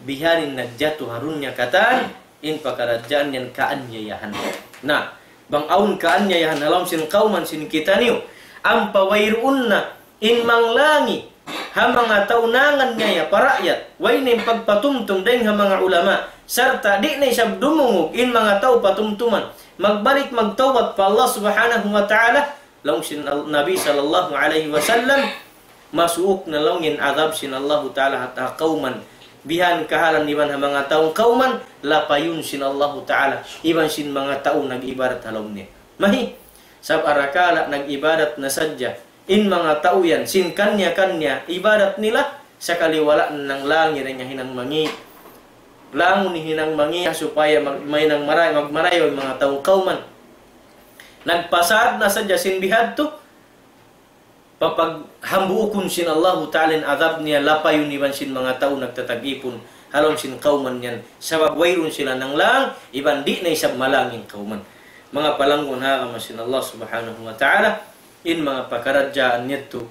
Biha'n in nagjatu ha dunya katan, in pakaradjaan yan kaaniayahan. Na, bang awn kaaniayahan ha lawm sin kawman sin kitaniyu, ampa wayruun na in manglangi ha manga tau nanganiaya pa raayat, way na in pagpatumtum dayn ha manga ulama, sarta' di' na isab dumungug in manga tau patumtuman, magbalik magtawbat pa Allah Subhanahu wa Ta'ala, laung sin Al-, Nabi sallallahu alayhi wasallam, masuuk na laung in adhab sin Allahu Ta'ala ha ta-, kawman. Biha'n kahalan iban ha manga tau kawman, lapayun sin Allahu Ta'ala, iban sin manga tau nag-ibadat ha lawm niya. Mahi, sabab arakala' nag-ibadat na sadja in manga tau yan, sin kaniya-kaniya ibadat nila, sakali wala' nanglangi dayn ha hinang mangi'. Langun in hinang mangi' supaya mag-, mahinang maray-, magmarayaw in manga tau kawman. Nagpasad na sadja sin bihadtu, papaghambuukun sin Allahu Ta'ala in adhab niya, lapayun iban sin manga tau nagtatag-ipun ha lawm sin kawman yan. Sabab wayruun sila nanglang, iban di' na isab malang in kawman. Manga palanggun ha agama sin Allah Subhanahu wa Ta'ala, in manga pakaradjaan yadtu,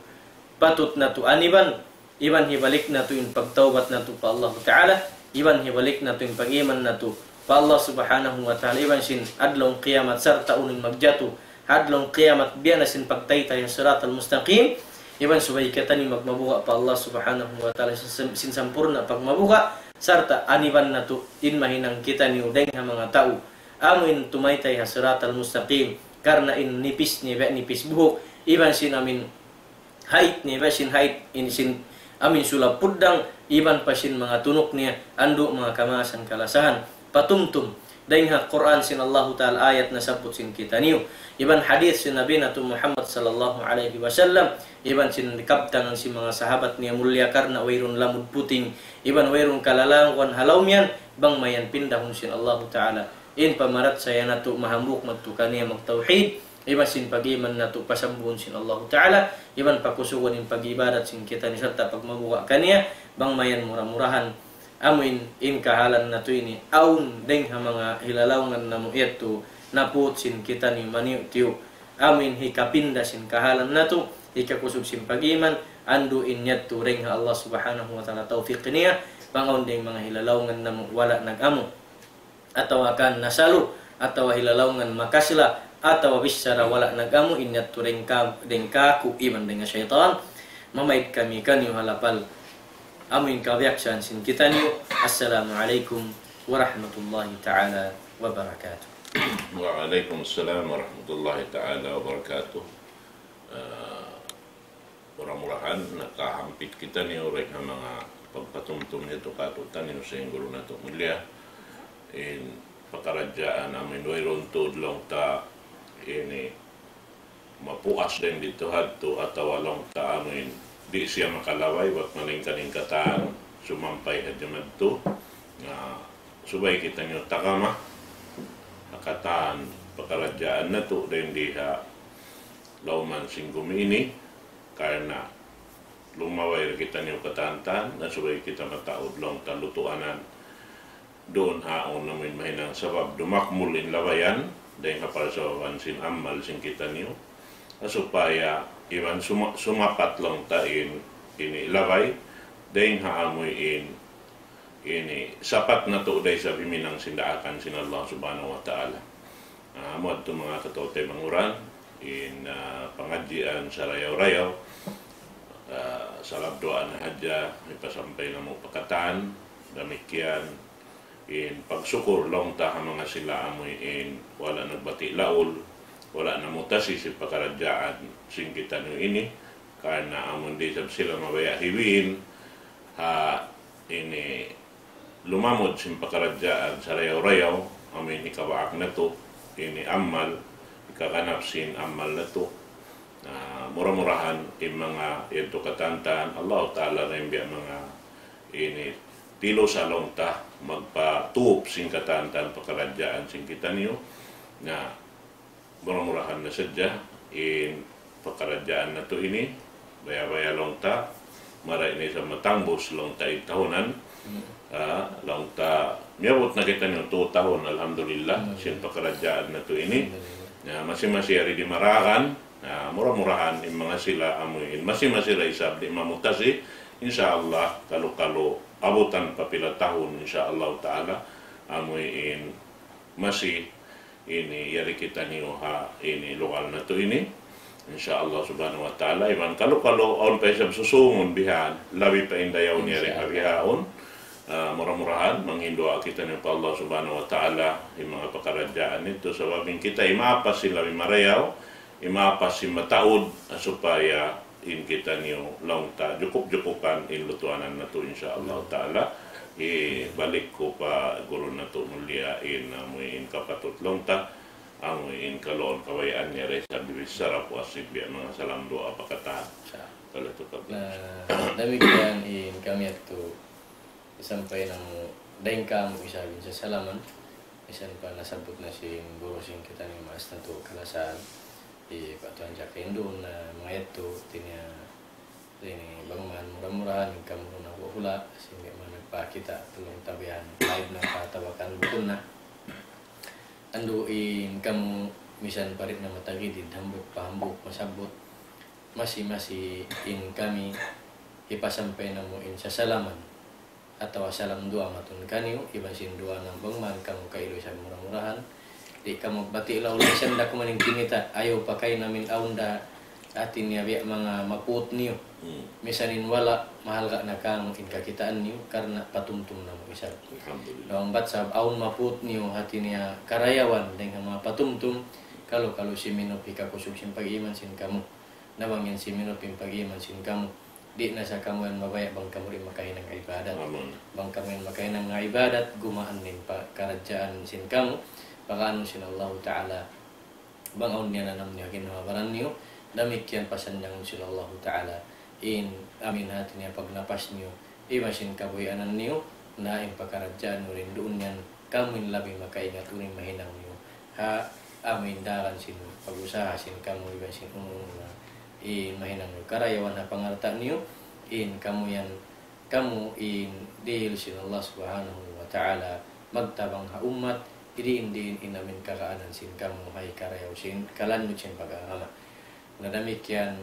patut natu' aniban, iban hibalik natu' in pagtawbat natu' pa Allah Ta'ala, iban hibalik natu' in pag-iman natu' pa Allah Subhanahu wa Ta'ala, iban sin adlaw qiyamat sarta' unu in magjatu ha adlaw qiyamat biya' na sin pagtaytay ha siratal mustaqim, iban subay kitaniyu magmabuga' pa Allah Subhanahu wa Ta'ala sin, sin sampurna' pagmabuga', sarta' aniban natu' in mahinang kitaniyu dayn ha manga tau amu in tumaytay ha siratal mustaqim, karna' in nipis niya, nipis buhuk, iban sin amin hait niya, iban sin hait in sin amin sulab puddang, iban pa sin manga tunuk niya, andu' manga kamaasan kalasahan. Patumtum dayn ha Qur'an sin Allahu Ta'ala, ayat nasabbut sin kitaniyu, iban hadith sin Nabi natu' Muhammad sallallahu alayhi wasallam, iban sin kabtangan sin manga sahabat niya mulliya, karna' wayruun lamud puting, iban wayruun kalalanguan ha lawm yan, bang mayan pindahun sin Allahu Ta'ala in pamarachaya natu', mahambuuk madtu kaniya magtawhid, iban sin pag-iman natu' pasambuhun sin Allahu Ta'ala, iban pakusugun in pag-ibadat sin kitaniyu sarta' pagmabuga' kaniya, bang mayan mura-murahan amuin in kahalan natu' ini, awn dayng ha manga hilalaungan namu' yadtu, naput sin kitaniyu maniyu'-tiyu', amuin hikapinda sin kahalan natu', hikakusug sin pag-iman, andu' in yadtu dayng ha Allah Subhanahu wa Ta'ala tawfiq niya, bang awn dayng manga hilalaungan namu' wala' nag-amu, atawa kan nasalu, atawa hilalaungan makasla, atawa bichara wala' nag-amu, in yadtu dayng ka-, dayng kāku' iban dayng ha saytan, mamaid kami kaniyu ha lapal amuin kabiyaksahan sin kitaniyu. Assalamu alaykum warahmatullahi ta'ala wabarakatuh. Wa alaykum assalam warahmatullahi ta'ala wabarakatuh. Ah, mura-murahan nakahampit kitaniyu dayn ha manga pagpatumtum yadtu kātu'niyu sin guru natu' mulliya. In pakaradjaan amuin wayruun tuud laung ta ini mapuas dayn didtu hadtu atawa laung ta amuin di' siya makalabay, bat malingka-lingka ta sumampay hadja madtu. Na, subay kitaniyu tagama ha katan pakaradjaan natu' dayn di ha lawman sin gumi ini, karna' lumabay ra kitaniyu katan-katan, na subay kita mataud laung ta lutuanan. Duun ha awn amuin mahinang sabab dumakmul in labayan, dayn ha parsababan sin amal sin kitaniyu. Na supaya iban suma-, sumapat laung ta in, ini labay, dayn ha amuin ini sapat natu' da isab himinang sin daakan sin Allah Subhanahu wa Ta'ala. Ah, amu yadtu manga kataw-taymanghuran, in, ah, pangadjian sarayaw-rayaw, ah, salabduwa na hadja, hipasampay namu' pa katan, damikkiyan, in pagsukur laung ta ha manga sila amuin wala' nagbati' laul, wala' namutasi sin pakaradjaan sin kitaniyu ini, karna' amun di' isab sila mabaya' hiwiin, ha ini lumamud sin pakaradjaan sarayaw-rayaw, amuin hikabaak natu', ini amal, hikaganap sin amal natu'. Na, mura-murahan, in manga yadtu katan-katan, Allah Ta'ala na in biya' manga ini tilusa laung ta, magpatup sin katan-katan pakaradjaan sin kitaniyu. Na, mura-murahan na sadja in pakaradjaan natu' ini, baya'-baya' laung ta, marayaw ini sa matangbus laung ta in tahunan. Ah, laung ta, miyabut na kitaniyu tū tahun, alhamdulillah, sin pakaradjaan natu' ini. Na, masi-masi yari dimaragan, na, mura-murahan in manga sila amuin, masi-masi ra isab di' mamutasi, insya Allah, kalu-kalu abutan pa pila tahun, insya Allah Ta'ala, amuin masi ini yari kitaniyu ha ini lugal natu' ini. Insya Allah Subhanahu wa Ta'ala, iban kalu-kalu awn pa isab susungun bihan, labi pa in dayaw niya ri ha bihaun. Ah, mura-murahan, manghinduwaa kitaniyu pa Allah Subhanahu wa Ta'ala, in manga pakaradjaan yadtu, sabab in kita imapas sin labi marayaw, imapas sin mataud, ah, supaya in kitaniyu laung ta jukup-jukupan in lutuanan natu', insya Allah Ta'ala. Hibalik ku pa guru natu' mulliya in amuin kapatut laung ta, amuin kaluun kabayaan niya da isab bichara puas sin biya' manga salam duwaa pa katan. Kalu tu pa. Na, damikkiyan in kami yadtu sampay namu' dayn kāmu' isab in sasalaman, misan pa nasabbut na sin guru sin kitaniyu maas natu' kalasahan, hi Pak Tuan Jack Indun, na manga yadtu, hāti niya, ini, bang man mura-murahan in kamu na hula', sin di' man nagpakita', tulung tabihan, live na patawakan bukun na. Andu' in kamu, misan pa di' na matagid, hambuuk pa hambuuk masabbut, masi-masi in kami, hipasampay namu' in sasalaman atawa salam duwaa matun kaniyu, iban sin duwaa na bang man kamu kailu isab mura-murahan. Di' kamu bati' laul, misan da kuman in kinita', ayaw pa kaina amin awn da hāti niya biya' manga maput niyu. Misan in wala', mahalga' na kamu in kakitaan niyu, karna' patumtum namu' isab. Alhamdulillah. Laung bat sab awn maput niyu, hāti niya karayawan, dayn ha manga patumtum, kalu-kalu Siminope kakusug sin pag-iman sin kamu. Na bang yan Siminope in pag-iman sin kamu, di' na sa kamu yan mabaya' bang kamu di' makahinang ibadat. Amin. Bang kamu yan makahinang ibadat, gumaan in pakaradjaan sin kamu, pakaanu sin Allahu Ta'ala, bang awn niyananam niyu ha ginhawa-baran niyu, damikkiyan pasanjangun sin Allahu Ta'ala in amu in hati niya pagnapas niyu, iban sin kabuhianan niyu, na in pakaradjaan niyu rin duun yan, kamu in labi makaingat unu in mahinang niyu ha amu in daran sin pag-usaha sin kamu iban sin unu-unu na in mahinang niyu. Karayawan ha pangalta' niyu, in kamu yan, kamu in dihil sin Allah Subhanahu wa Ta'ala magtabang ha ummat, diin-diin in amu in kagaanan sin kamu ha hikarayaw sin kalanyut sin pag-agama. Na damikkiyan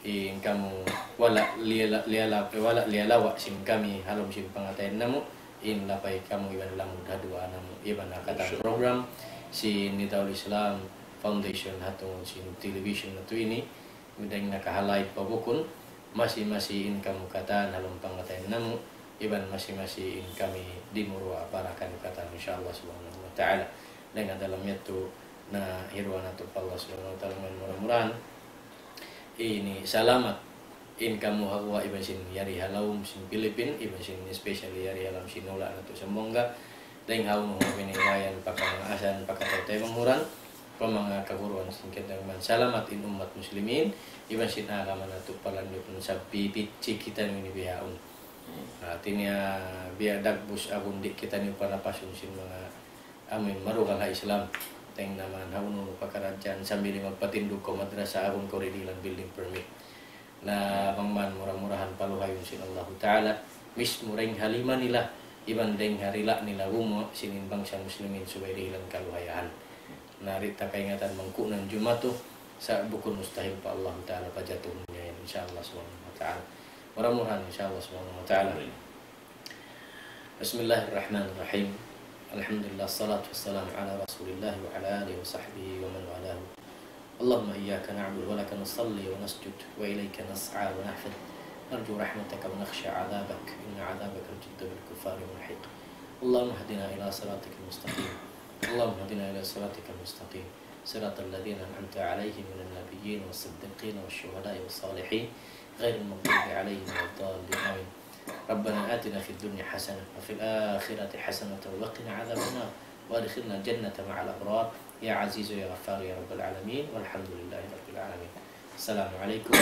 in kamu wala' liyala-, liyala-, wala' liyalawa' sin kami ha lawm sin pangatayan namu', in lapay kamu iban lamud ha duwaa namu', iban ha katan program sin Nidaul Islam Foundation ha tungud sin television natu' ini, dayn nakahalay pa bukun, masi-masi in kamu katan ha lawm pangatayan namu', iban masi-masi in kami dimuruwa' barakan katan, insya Allah subhanahu wa ta'ala. Dayn ha dalam yadtu na hiruwa natu' pa Allah subhanahu wa ta'ala, mura-murahan ini salamat in kamu ha guwa' iban sin yari ha lawm sin Pilipin, iban sin especially yari ha lawm sin hula' natu' Zamboanga. Dayn ha unu-unu biniwayan, pakamaasan, pakataw-taymanghuran, pa manga kaguruan sin kita man. Salamat in ummat muslimin, iban sin agama natu' palanyut, sabab pipitsi kitaniyu ini bihaun. Hati niya biya' dagbus agun di' kitaniyu panapasun sin manga amu in marugal ha Islam. Dayn naman ha unu-unu pakaradjaan sambil magpatindug kaw madrasa agun kaw di' dihilan building permit. Na bang man mura-murahan paluhayun sin Allahu Ta'ala, mismu dayn ha lima nila, iban dayn ha dila' nila gumuwa' sin in bangsa muslimin subay dihilan kaluhayahan. Na di' ta kaingatan bang ku'nan jumatu, sa' bukun mustahil pa Allahu Ta'ala pajatuhun niya yan, insya Allah subhanahu wa ta'ala. Mura-murahan, insya Allah subhanahu wa ta'ala. Amin. بسم الله الرحمن الرحيم. الحمد لله، الصلاة والسلام على رسول الله وعلى آله وصحبه ومن والاه. اللهم إياك نعبد ولك نصلي ونسجد وإليك نسعى ونحفد، نرجو رحمتك ونخشى عذابك، إن عذابك الجد بالكفار ملحق. اللهم اهدنا إلى صراطك المستقيم. اللهم اهدنا إلى صراطك المستقيم، صراط الذين أنعمت عليهم من النبيين والصديقين والشهداء والصالحين، غير المغضوب عليهم ولا الضالين. آمين. ربنا آتنا في الدنيا حسنة وفي الآخرة حسنة وقنا عذاب النار، وأدخلنا الجنة مع الأبرار، يا عزيز يا غفار يا رب العالمين، والحمد لله رب العالمين. السلام عليكم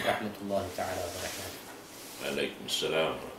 ورحمة الله تعالى وبركاته. وعليكم السلام ورحمة الله.